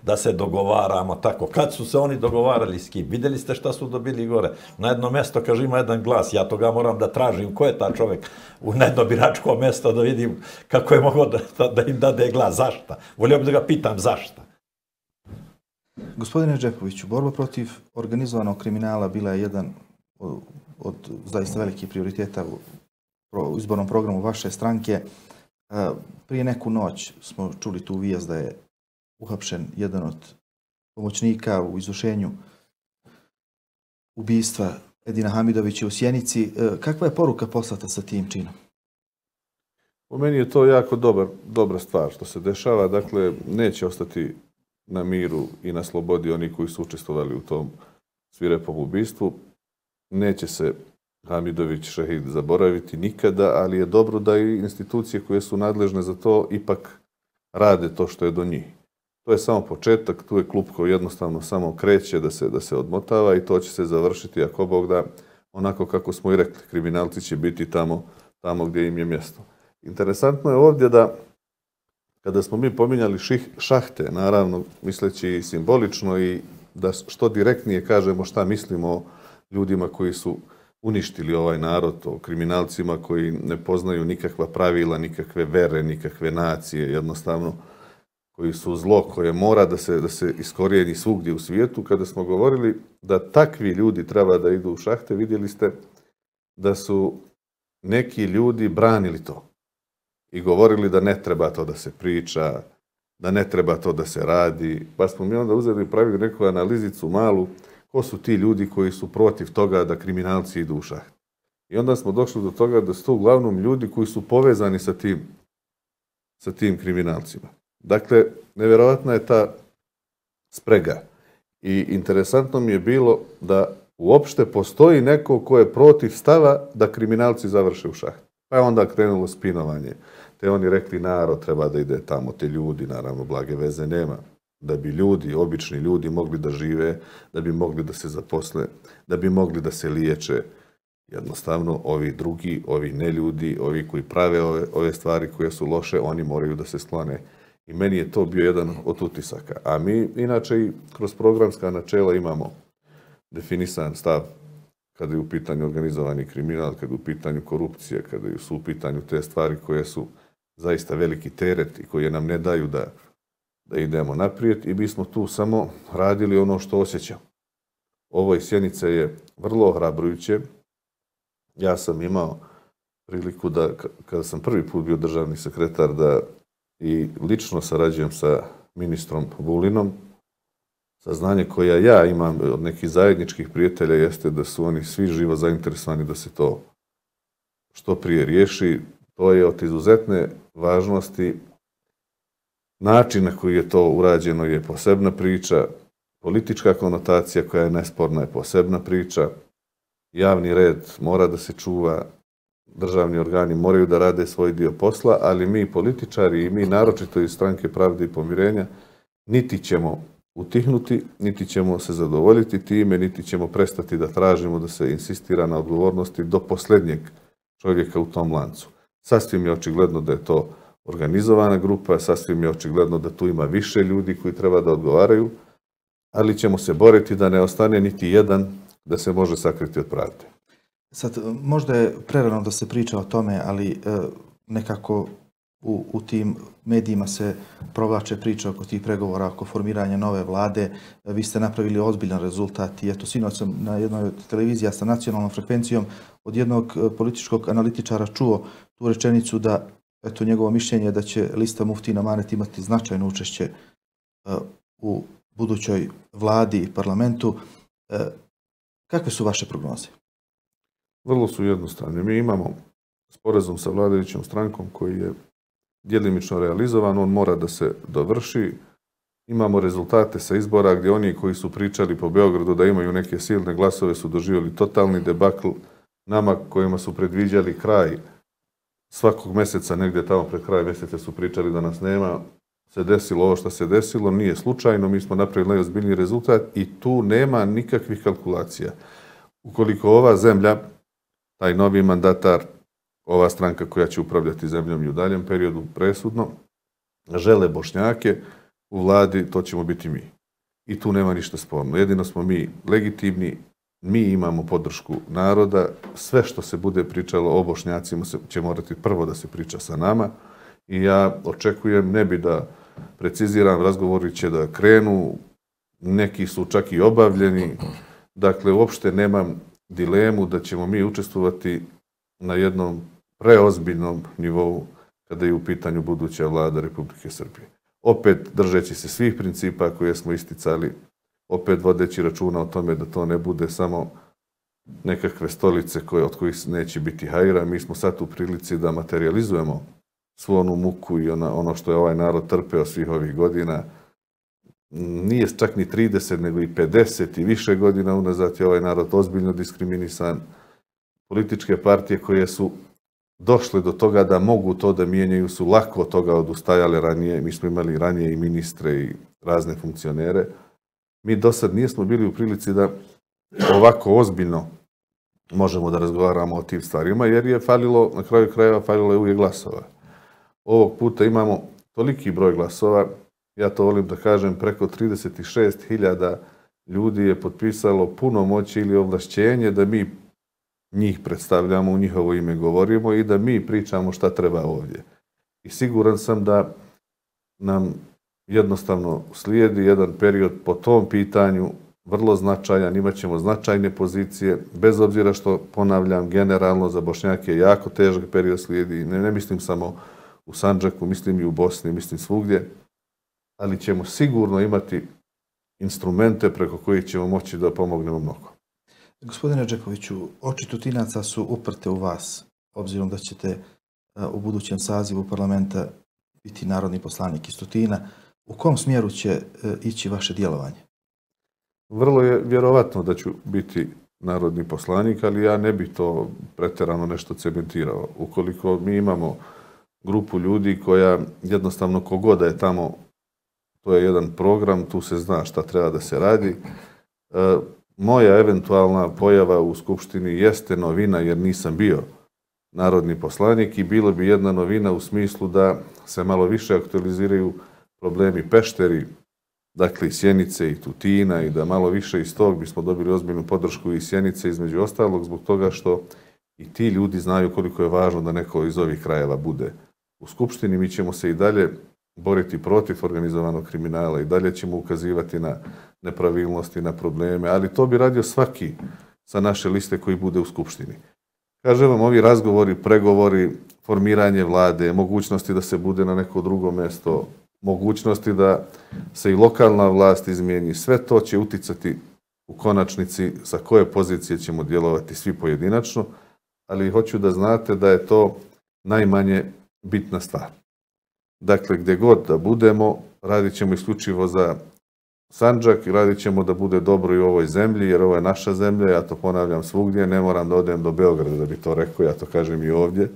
da se dogovaramo tako. Kad su se oni dogovarali s kim? Vidjeli ste šta su dobili gore? Na jedno mesto, kaže, ima jedan glas, ja toga moram da tražim. Ko je ta čovjek na jedno biračko mesto da vidim kako je mogao da im dade glas? Zašta? Volio bih da ga pitam zašta.
Gospodine Džepoviću, borba protiv organizovanog kriminala bila je jedan od zaista velikih prioriteta u izbornom programu vaše stranke. Prije neku noć smo čuli tu vijest da je uhapšen jedan od pomoćnika u izvršenju ubistva Edina Hamidovića u Sjenici. Kakva je poruka poslata sa tim činom?
Po meni je to jako dobra stvar što se dešava. Dakle, neće ostati na miru i na slobodi oni koji su učestvovali u tom svirepom ubistvu. Neće se Hamidović šehid zaboraviti nikada, ali je dobro da i institucije koje su nadležne za to ipak rade to što je do njih. To je samo početak, tu je klub koji jednostavno samo kreće da se odmotava i to će se završiti, ako Bog da, onako kako smo i rekli, kriminalci će biti tamo gdje im je mjesto. Interesantno je ovdje da kada smo mi pominjali šahte, naravno misleći simbolično i da što direktnije kažemo šta mislimo o ljudima koji su uništili ovaj narod, o kriminalcima koji ne poznaju nikakva pravila, nikakve vere, nikakve nacije, jednostavno koji su zlo koje mora da se iskorijeni svugdje u svijetu. Kada smo govorili da takvi ljudi treba da idu u šahte, vidjeli ste da su neki ljudi branili to i govorili da ne treba to da se priča, da ne treba to da se radi. Pa smo mi onda uzeli i pravili neku analizicu malu, ko su ti ljudi koji su protiv toga da kriminalci idu u šaht. I onda smo došli do toga da su to uglavnom ljudi koji su povezani sa tim kriminalcima. Dakle, nevjerovatna je ta sprega. I interesantno mi je bilo da uopšte postoji neko ko je protiv stava da kriminalci završe u šaht. Pa je onda krenulo spinovanje. Te oni rekli narod treba da ide tamo, te ljudi, naravno blage veze nema. Da bi ljudi, obični ljudi mogli da žive, da bi mogli da se zaposle, da bi mogli da se liječe. Jednostavno, ovi drugi, ovi neljudi, ovi koji prave ove stvari koje su loše, oni moraju da se sklone. I meni je to bio jedan od utisaka. A mi, inače, i kroz programska načela imamo definisan stav kada je u pitanju organizovani kriminal, kada je u pitanju korupcija, kada su u pitanju te stvari koje su zaista veliki teret i koje nam ne daju da idemo naprijed i mi smo tu samo radili ono što osjećamo. Ovo iz Sjenice je vrlo ohrabrujuće. Ja sam imao priliku da, kada sam prvi put bio državni sekretar, da i lično sarađujem sa ministrom Vulinom. Saznanje koje ja imam od nekih zajedničkih prijatelja jeste da su oni svi živo zainteresovani da se to što prije riješi. To je od izuzetne važnosti. Način na koji je to urađeno je posebna priča. Politička konotacija koja je nesporna je posebna priča. Javni red mora da se čuva. Državni organi moraju da rade svoj dio posla, ali mi političari i mi naročito iz Stranke pravde i pomirenja niti ćemo utihnuti, niti ćemo se zadovoljiti time, niti ćemo prestati da tražimo da se insistira na odgovornosti do posljednjeg čovjeka u tom lancu. Sasvim je očigledno da je to organizovana grupa, sasvim je očigledno da tu ima više ljudi koji treba da odgovaraju, ali ćemo se boriti da ne ostane niti jedan da se može sakriti od pravde.
Sad, možda je prerano da se priča o tome, ali nekako u tim medijima se provlače priče oko tih pregovora, oko formiranja nove vlade. Vi ste napravili ozbiljan rezultat i eto, sinoć sam na jednoj od televizija sa nacionalnom frekvencijom od jednog političkog analitičara čuo tu rečenicu da, eto, njegovo mišljenje je da će lista Muftin Amanet imati značajno učešće u budućoj vladi i parlamentu. Kakve su vaše prognoze?
Vrlo su jednostavne. Mi imamo sporazum sa vladajućom strankom koji je djelimično realizovan, on mora da se dovrši. Imamo rezultate sa izbora gdje oni koji su pričali po Beogradu da imaju neke silne glasove su doživjeli totalni debakl. Nama kojima su predviđali kraj svakog mjeseca, negdje tamo pred kraj mjeseca su pričali da nas nema, se desilo ovo što se desilo, nije slučajno, mi smo napravili najozbiljniji rezultat i tu nema nikakvih kalkulacija. Ukoliko ova zemlja, taj novi mandatar, ova stranka koja će upravljati zemljom i u daljem periodu presudno, žele Bošnjake u vladi, to ćemo biti mi. I tu nema ništa sporno. Jedino smo mi legitimni, mi imamo podršku naroda, sve što se bude pričalo o Bošnjacima će morati prvo da se priča sa nama i ja očekujem, ne bi da preciziram, razgovori će da krenu, neki su čak i obavljeni, dakle uopšte nemam dilemu da ćemo mi učestvovati na jednom preozbiljnom nivou kada je u pitanju buduća vlada Republike Srbije. Opet držeći se svih principa koje smo isticali, opet vodeći računa o tome da to ne bude samo nekakve stolice od kojih neće biti hajra. Mi smo sad u prilici da materializujemo svu onu muku i ono što je ovaj narod trpeo svih ovih godina. Nije čak ni 30, nego i 50 i više godina unazad je ovaj narod ozbiljno diskriminisan. Političke partije koje su došle do toga da mogu to da mijenjaju su lako od toga odustajale ranije. Mi smo imali ranije i ministre i razne funkcionere. Mi do sad nismo bili u prilici da ovako ozbiljno možemo da razgovaramo o tim stvarima, jer je falilo, na kraju krajeva falilo je uvijek glasova. Ovog puta imamo toliki broj glasova, ja to volim da kažem, preko 36.000 ljudi je potpisalo punomoćje ili ovlašćenje da mi njih predstavljamo, u njihovo ime govorimo i da mi pričamo šta treba ovdje. I siguran sam da nam jednostavno slijedi jedan period po tom pitanju vrlo značajan, imat ćemo značajne pozicije, bez obzira što, ponavljam, generalno za Bošnjake je jako težak period slijedi, ne mislim samo u Sandžaku, mislim i u Bosni, mislim svugdje, ali ćemo sigurno imati instrumente preko kojih ćemo moći da pomognemo mnogo.
Gospodine Džekoviću, oči Tutinaca su uprte u vas, obzirom da ćete u budućem sazivu parlamenta biti narodni poslanik iz Tutina. U kom smjeru će ići vaše djelovanje?
Vrlo je vjerovatno da ću biti narodni poslanik, ali ja ne bi to pretjerano nešto cementirao. Ukoliko mi imamo grupu ljudi koja jednostavno kogoda je tamo, to je jedan program, tu se zna šta treba da se radi. Moja eventualna pojava u Skupštini jeste novina jer nisam bio narodni poslanik i bilo bi jedna novina u smislu da se malo više aktualiziraju problemi Pešteri, dakle i Sjenice i Tutina i da malo više iz tog bismo dobili ozbiljnu podršku i Sjenice između ostalog zbog toga što i ti ljudi znaju koliko je važno da neko iz ovih krajeva bude u Skupštini. Mi ćemo se i dalje boriti protiv organizovanog kriminala i dalje ćemo ukazivati na nepravilnosti, na probleme, ali to bi radio svaki sa naše liste koji bude u Skupštini. Kažem vam, ovi razgovori, pregovori, formiranje vlade, mogućnosti da se bude na neko drugo mjesto, mogućnosti da se i lokalna vlast izmijeni, sve to će uticati u konačnici sa koje pozicije ćemo djelovati svi pojedinačno, ali hoću da znate da je to najmanje bitna stvar. Dakle, gdje god da budemo, radit ćemo isključivo za Sandžak i radit ćemo da bude dobro i u ovoj zemlji, jer ovo je naša zemlja, ja to ponavljam svugdje, ne moram da odem do Beograda da bi to rekao, ja to kažem i ovdje.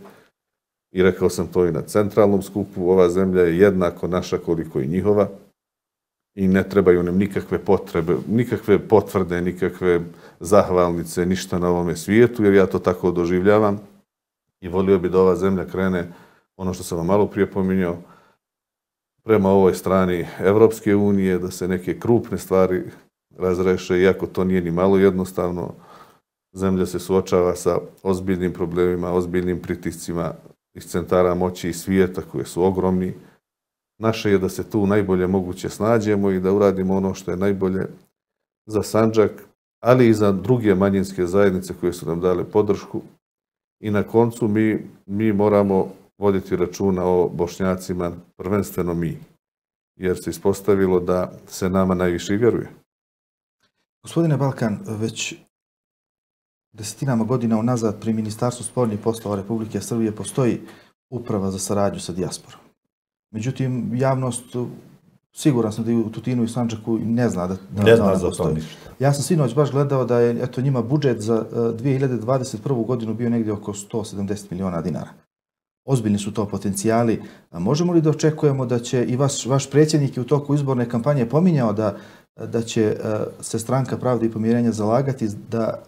I rekao sam to i na centralnom skupu, ova zemlja je jednako naša koliko i njihova i ne trebaju nam nikakve potrebe, nikakve potvrde, nikakve zahvalnice, ništa na ovome svijetu, jer ja to tako doživljavam i volio bi da ova zemlja krene, ono što sam vam malo prije pominjao, prema ovoj strani Evropske unije, da se neke krupne stvari razreše, iako to nije ni malo jednostavno. Zemlja se suočava sa ozbiljnim problemima, ozbiljnim pritiscima, iz centara moći i svijeta koje su ogromni. Naše je da se tu najbolje moguće snađemo i da uradimo ono što je najbolje za Sandžak, ali i za druge manjinske zajednice koje su nam dale podršku. I na koncu mi moramo voditi računa o Bošnjacima, prvenstveno mi, jer se ispostavilo da se nama najviše i vjeruje.
Gospodine Balkan, već desetinama godina unazad pri Ministarstvu spoljnih poslova Republike Srbije postoji uprava za saradnju sa dijasporom. Međutim, javnost, siguran sam da i u Tutinu i Sandžaku ne zna da ona
za to
postoji.
ništa.
Ja sam sinoć baš gledao da je njima budžet za 2021. godinu bio negdje oko 170 miliona dinara. Ozbiljni su to potencijali. Možemo li da očekujemo da će i vaš predsjednik u toku izborne kampanje pominjao da će se Stranka pravde i pomirenja zalagati da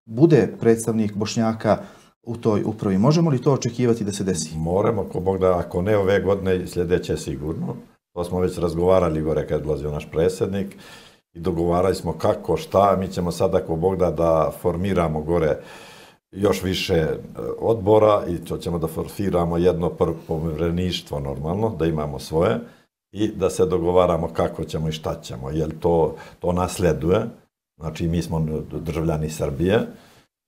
bude predstavnik Bošnjaka u toj upravi? Možemo li to očekivati da se desi?
Moramo, ko Bog da, ako ne ove godine, sljedeće sigurno. To smo već razgovarali gore kad je dolazio naš predsjednik i dogovarali smo kako, šta. Mi ćemo sada, ako Bog da formiramo gore još više odbora i to ćemo da formiramo jedno povjereništvo normalno, da imamo svoje i da se dogovaramo kako ćemo i šta ćemo, jer to nasleduje. Znači, mi smo državljani Srbije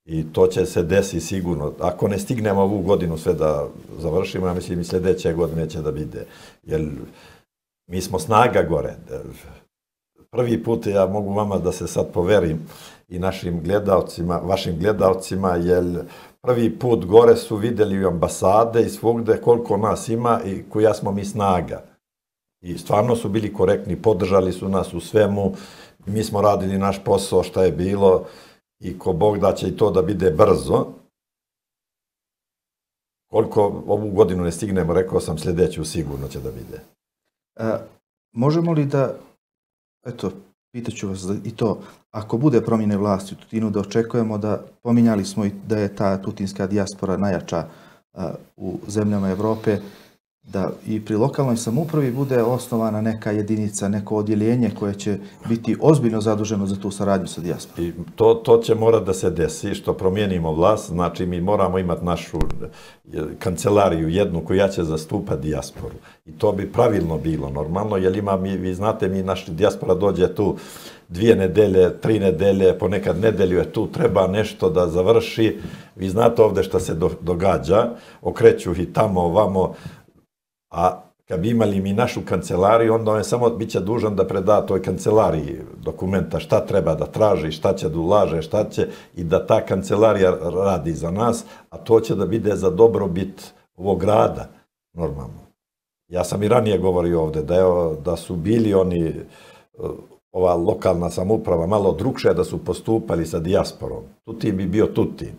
i to će se desiti sigurno. Ako ne stignemo ovu godinu sve da završimo, ja mislim i sljedeće godine će da vide. Jer mi smo snaga gore. Prvi put ja mogu vama da se sad poverim i našim gledalcima, vašim gledalcima, jer prvi put gore su vidjeli u ambasade i svugde koliko nas ima i koja smo mi snaga. I stvarno su bili korektni, podržali su nas u svemu. Mi smo radili naš posao šta je bilo i ko Bog da će i to da bide brzo. Koliko ovu godinu ne stignemo, rekao sam, sljedeću sigurno će da vide.
Možemo li da, eto, pitaću vas i to, ako bude promjene vlasti u Tutinu, da očekujemo da, pominjali smo i da je ta tutinska dijaspora najjača u zemljama Evrope, da i pri lokalnoj samoupravi bude osnovana neka jedinica, neko odjeljenje koje će biti ozbiljno zaduženo za tu saradnju sa dijasporom.
I to će morati da se desi, što promijenimo vlast, znači mi moramo imati našu kancelariju jednu koja će zastupati dijasporu. I to bi pravilno bilo normalno, jer vi znate, naša dijaspora dođe tu 2 nedelje, 3 nedelje, ponekad nedelju je tu, treba nešto da završi. Vi znate ovdje šta se događa, okreću i tamo, ovamo. A kad bi imali mi našu kancelariju, onda on samo bit će dužan da preda toj kancelariji dokumenta šta treba da traži, šta će da ulaže, šta će, i da ta kancelarija radi za nas, a to će da bude za dobrobit ovog grada, normalno. Ja sam i ranije govorio ovdje da su bili oni, ova lokalna samouprava, malo drukšije da su postupali sa dijasporom. Tutin bi bio Tutin.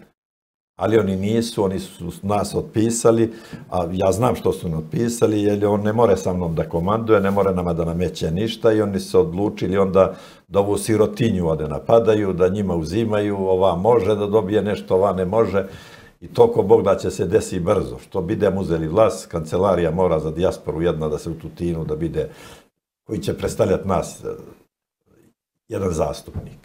Ali oni nisu, oni su nas otpisali, a ja znam što su nas otpisali, jer on ne more sa mnom da komanduje, ne more nama da nameće ništa i oni se odlučili onda da ovu sirotinju ovdje napadaju, da njima uzimaju, ova može da dobije nešto, ova ne može. I to ko Bog da će se desi brzo. Što bidemo uzeli vlast, kancelarija mora za dijasporu jedna da se u Tutinu, da bide, koji će predstavljati nas, jedan zastupnik.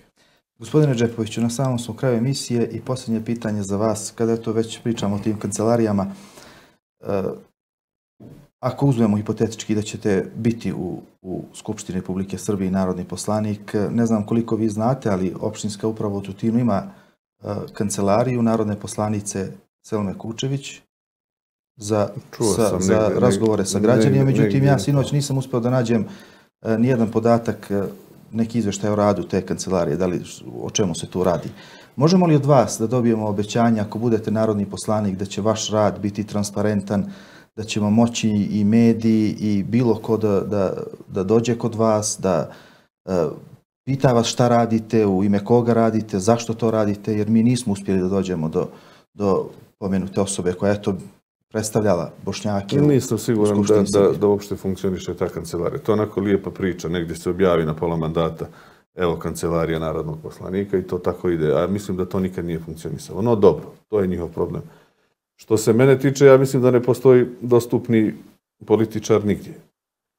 Gospodine Džepoviću, na samom smo kraju emisije i posljednje pitanje za vas, kada to već pričamo o tim kancelarijama. Ako uzmemo hipotetički da ćete biti u Skupštini Republike Srbije narodni poslanik, ne znam koliko vi znate, ali opštinska uprava u Tutinu ima kancelariju narodne poslanice Selme Kučević za razgovore sa građanima. Međutim, ja sinoć nisam uspio da nađem nijedan podatak, neki izveštaj o radu te kancelarije, o čemu se tu radi. Možemo li od vas da dobijemo obećanje, ako budete narodni poslanik, da će vaš rad biti transparentan, da ćemo moći i mediji i bilo ko da dođe kod vas, da pita vas šta radite, u ime koga radite, zašto to radite, jer mi nismo uspjeli da dođemo do pomenute osobe koja je to predstavljala Bošnjake.
Nisam siguran da uopšte funkcioniše ta kancelarija. To je onako lijepa priča, negdje se objavi na pola mandata, evo kancelarija narodnog poslanika i to tako ide. A mislim da to nikad nije funkcionisalo. No dobro, to je njihov problem. Što se mene tiče, ja mislim da ne postoji dostupni političar nigdje.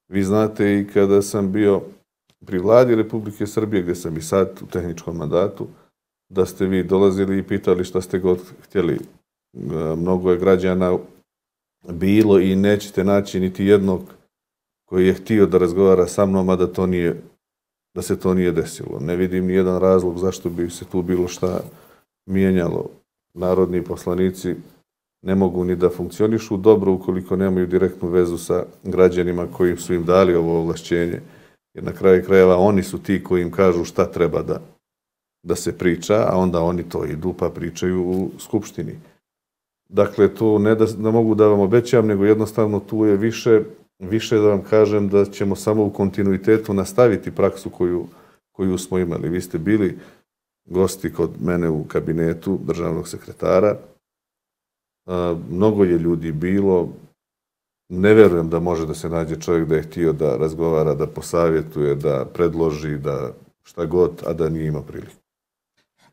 Vi znate i kada sam bio pri vladi Republike Srbije, gdje sam i sad u tehničkom mandatu, da ste vi dolazili i pitali šta ste god htjeli Mnogo je građana bilo i nećete naći niti jednog koji je htio da razgovara sa mnom, a da se to nije desilo. Ne vidim ni jedan razlog zašto bi se tu bilo šta mijenjalo. Narodni poslanici ne mogu ni da funkcionišu dobro ukoliko nemaju direktnu vezu sa građanima koji su im dali ovo ovlašćenje. Jer na kraju krajeva oni su ti koji im kažu šta treba da se priča, a onda oni to idu pa pričaju u Skupštini. Dakle, to ne da mogu da vam obećam, nego jednostavno tu je više da vam kažem da ćemo samo u kontinuitetu nastaviti praksu koju smo imali. Vi ste bili gosti kod mene u kabinetu državnog sekretara. Mnogo je ljudi bilo. Ne verujem da može da se nađe čovjek da je htio da razgovara, da posavjetuje, da predloži, da šta god, a da nije imao priliku.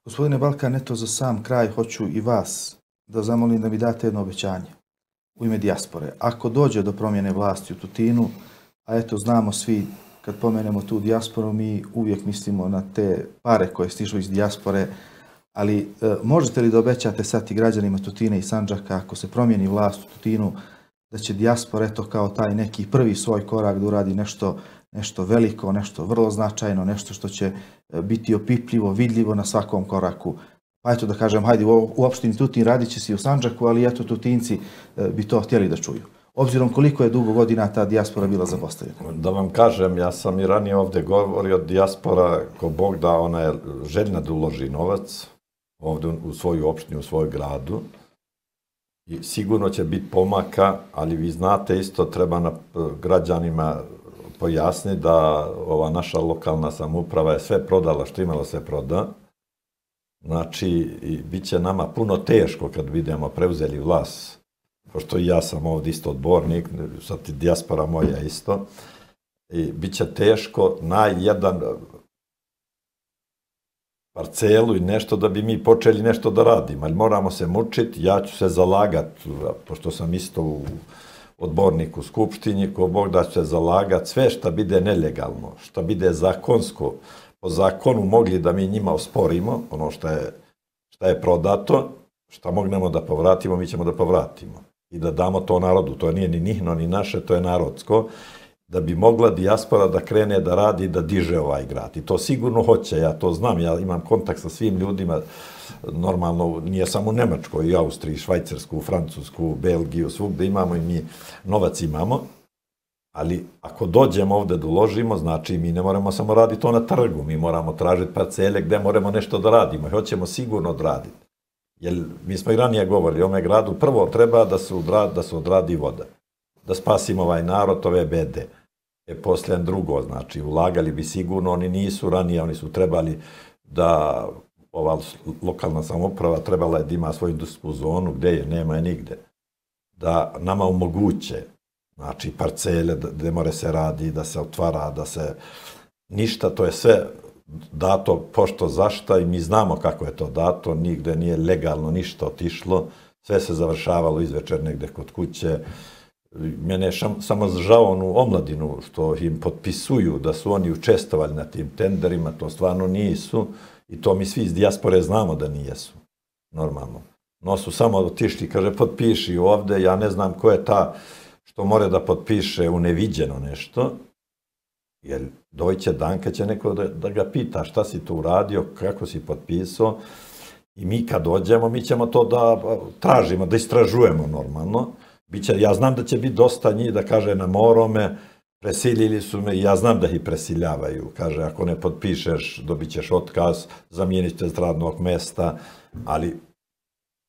Gospodine Balkan, eto za sam kraj hoću i vas da zamolim da mi date jedno obećanje u ime dijaspore. Ako dođe do promjene vlasti u Tutinu, a eto znamo svi kad pomenemo tu dijasporu, mi uvijek mislimo na te pare koje stižu iz dijaspore, ali možete li da obećate sad i građanima Tutina i Sandžaka, ako se promijeni vlast u Tutinu, da će dijaspora eto kao taj neki prvi svoj korak da uradi nešto veliko, nešto vrlo značajno, nešto što će biti opipljivo, vidljivo na svakom koraku. Pa eto da kažem, hajde u opštini Tutin radit će se i u Sandžaku, ali eto Tutinci bi to htjeli da čuju. Obzirom koliko je dugo godina ta dijaspora bila zapostavljena.
Da vam kažem, ja sam i ranije ovdje govorio, dijaspora, ko Bog da, ona je željna da uloži novac ovdje u svoju opštinu, u svoj gradu. I sigurno će biti pomaka, ali vi znate isto, treba građanima pojasniti da ova naša lokalna samouprava je sve prodala, što imala se proda. Znači, bit će nama puno teško kad vidimo preuzeli vlast, pošto i ja sam ovdje isto odbornik, sad i dijaspora moja isto, i bit će teško na jedan parcelu i nešto da bi mi počeli nešto da radimo, ali moramo se mučiti, ja ću se zalagati, pošto sam isto odbornik u Skupštini, ko Bog da ću se zalagati, sve što bude nelegalno, što bude zakonsko, po zakonu mogli da mi njima osporimo, ono što je prodato, što mognemo da povratimo, mi ćemo da povratimo. I da damo to narodu, to nije ni njihno, ni naše, to je narodsko, da bi mogla dijaspora da krene da radi i da diže ovaj grad. I to sigurno hoće, ja to znam, ja imam kontakt sa svim ljudima, normalno, nije samo u Nemačkoj, i Austriji, Švajcarsku, Francusku, Belgiju, svugde imamo i mi novac imamo, ali ako dođemo ovdje da uložimo, znači mi ne moramo samo raditi to na trgu, mi moramo tražiti parcele gdje moramo nešto da radimo i hoćemo sigurno odraditi. Jer mi smo i ranije govorili, ovome gradu prvo treba da se odradi voda, da spasimo ovaj narod, ove bede. Poslije drugo, znači ulagali bi sigurno, oni nisu ranije, oni su trebali da ova lokalna samouprava trebala je da ima svoju industrijsku zonu, gdje je, nema je nigde. Da nama omoguće, znači parcele gdje more se radi, da se otvara, da se ništa, to je sve dato pošto zašta i mi znamo kako je to dato, nigde nije legalno ništa otišlo, sve se završavalo izvečer negde kod kuće. Mene je samo žao onu omladinu što im potpisuju da su oni učestvovali na tim tenderima, to stvarno nisu i to mi svi iz dijaspore znamo da nijesu, normalno. No su samo otišli, kaže potpiši ovde, ja ne znam ko je ta što more da potpiše u neviđeno nešto, jer doće dan kad će neko da ga pita šta si tu uradio, kako si potpisao i mi kad dođemo mi ćemo to da tražimo, da istražujemo normalno. Ja znam da će biti dosta njih da kaže na morome, presilili su me i ja znam da ih presiljavaju. Kaže ako ne potpišeš dobit ćeš otkaz, zamijenit će s radnog mesta, ali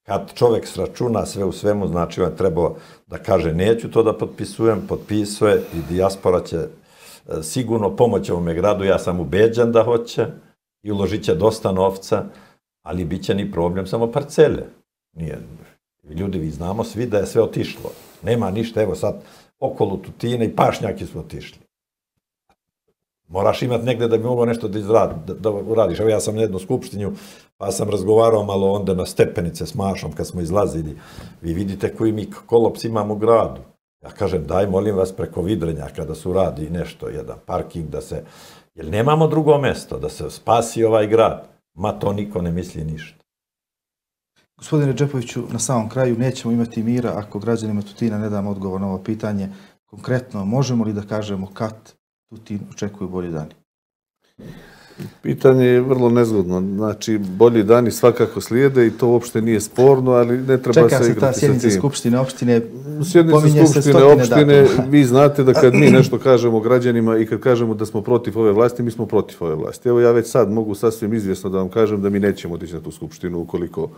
kad čovjek sračuna sve u svemu, znači on treba da kaže neću to da potpisujem, potpisuje i dijaspora će sigurno pomoći ovome gradu, ja sam ubeđen da hoće i uložit će dosta novca, ali bit će ni problem samo parcele. Ljudi, vi znamo svi da je sve otišlo. Nema ništa, evo sad okolo Tutine i pašnjaki su otišli. Moraš imati negdje da bi mogao nešto da uradiš. Evo ja sam na jednu skupštinju, pa sam razgovarao malo onda na stepenice s Mašom kad smo izlazili. Vi vidite koji mi kolaps imamo u gradu. Ja kažem, daj molim vas preko Vidrenjaka da se uradi nešto, jedan parking, jer nemamo drugo mjesto, da se spasi ovaj grad. Ma to niko ne misli ništa.
Gospodine Džepoviću, na samom kraju nećemo imati mira ako građanima Tutina ne damo odgovor na ovo pitanje. Konkretno, možemo li da kažemo kad Tutin očekuju bolji dani?
Pitanje je vrlo nezgodno. Znači, bolji dani svakako slijede i to uopšte nije sporno, ali ne treba se igrati sa tim.
Čeka se ta sjednica Skupštine opštine.
Sjednica Skupštine opštine, vi znate da kad mi nešto kažemo građanima i kad kažemo da smo protiv ove vlasti, mi smo protiv ove vlasti. Evo ja već sad mogu sasvim izvjesno da vam kažem da mi nećemo otići na tu Skupštinu ukoliko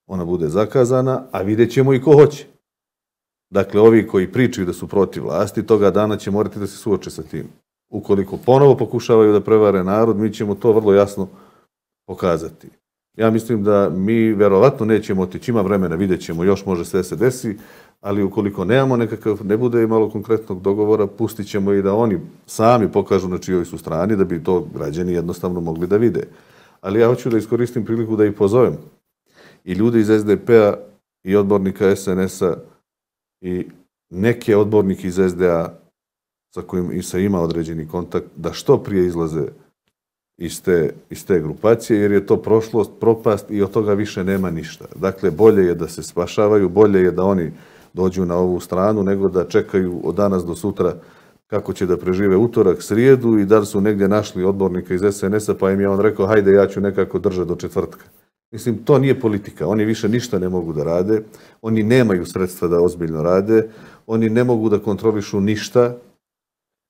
ona bude zakazana, a vidjet ćemo i ko hoće. Dakle, ovi koji pričaju da su protiv vlasti, toga dana će morati da se suoče sa tim. Ukoliko ponovo pokušavaju da prevare narod, mi ćemo to vrlo jasno pokazati. Ja mislim da mi verovatno nećemo otići, ima vremena, vidjet ćemo, još može sve se desi, ali ukoliko nemamo nekakav, ne bude i malo konkretnog dogovora, pustit ćemo i da oni sami pokažu na čijoj su strani, da bi to građani jednostavno mogli da vide. Ali ja hoću da iskoristim priliku da ih pozovem. I ljudi iz SDP-a i odbornika SNS-a i neke odbornike iz SDA sa kojim se ima određeni kontakt, da što prije izlaze iz te grupacije, jer je to prošlost, propast i od toga više nema ništa. Dakle, bolje je da se spašavaju, bolje je da oni dođu na ovu stranu, nego da čekaju od danas do sutra kako će da prežive utorak, srijedu i da li su negdje našli odbornika iz SNS-a, pa im je on rekao, hajde, ja ću nekako držati do četvrtka. Mislim, to nije politika. Oni više ništa ne mogu da rade, oni nemaju sredstva da ozbiljno rade, oni ne mogu da kontrolišu ništa.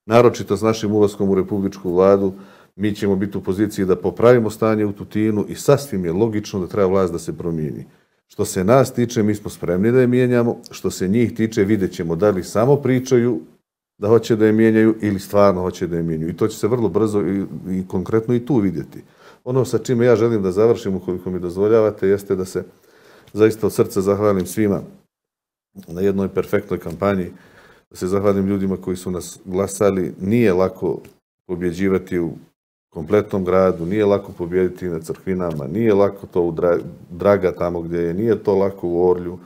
Naročito s našim ulaskom u Republičku vladu, mi ćemo biti u poziciji da popravimo stanje u Tutinu i sasvim je logično da treba vlast da se promijeni. Što se nas tiče, mi smo spremni da je mijenjamo. Što se njih tiče, vidjet ćemo da li samo pričaju da hoće da je mijenjaju ili stvarno hoće da je mijenjaju. I to će se vrlo brzo i konkretno i tu vidjeti. Ono sa čime ja želim da završim, ukoliko mi dozvoljavate, jeste da se zaista od srca zahvalim svima na jednoj perfektnoj kampanji, da se zahvalim ljudima koji su nas glasali. Nije lako pobjeđivati u kompletnom gradu, nije lako pobjediti na Crkvinama, nije lako to u Draga tamo gdje je, nije to lako u Orlju,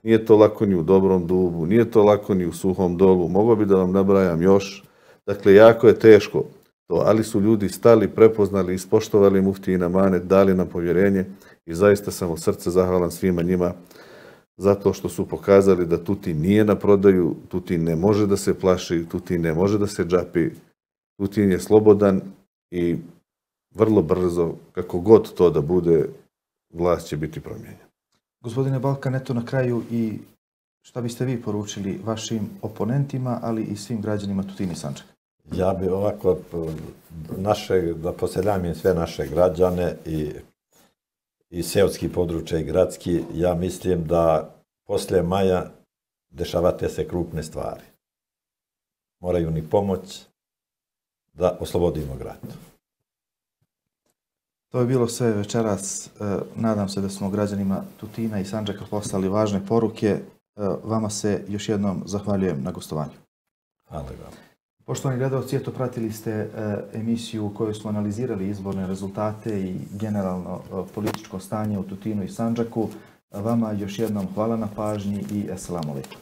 nije to lako ni u Dobrom Dubu, nije to lako ni u Suhom Dolu, mogao bi da vam nabrajam još. Dakle, jako je teško to, ali su ljudi stali, prepoznali, ispoštovali muftijin amanet, dali nam povjerenje i zaista sam od srca zahvalan svima njima zato što su pokazali da Tutin nije na prodaju, Tutin ne može da se plaši, Tutin ne može da se džapi, Tutin je slobodan i vrlo brzo, kako god to da bude, vlast će biti promijenjena.
Gospodine Balkan, eto na kraju i šta biste vi poručili vašim oponentima, ali i svim građanima Tutina i Sandžaka?
Ja bi ovako, da poseljamim sve naše građane i seoski područja i gradski, ja mislim da poslije maja dešavate se krupne stvari. Moraju ni pomoć da oslobodimo grad.
To je bilo sve večeras. Nadam se da smo građanima Tutina i Sandžaka poslali važne poruke. Vama se još jednom zahvaljujem na gostovanju.
Hvala vam.
Poštovani gledalci, eto pratili ste emisiju u kojoj smo analizirali izborne rezultate i generalno političko stanje u Tutinu i Sandžaku. Vama još jednom hvala na pažnji i assalamu alaikum.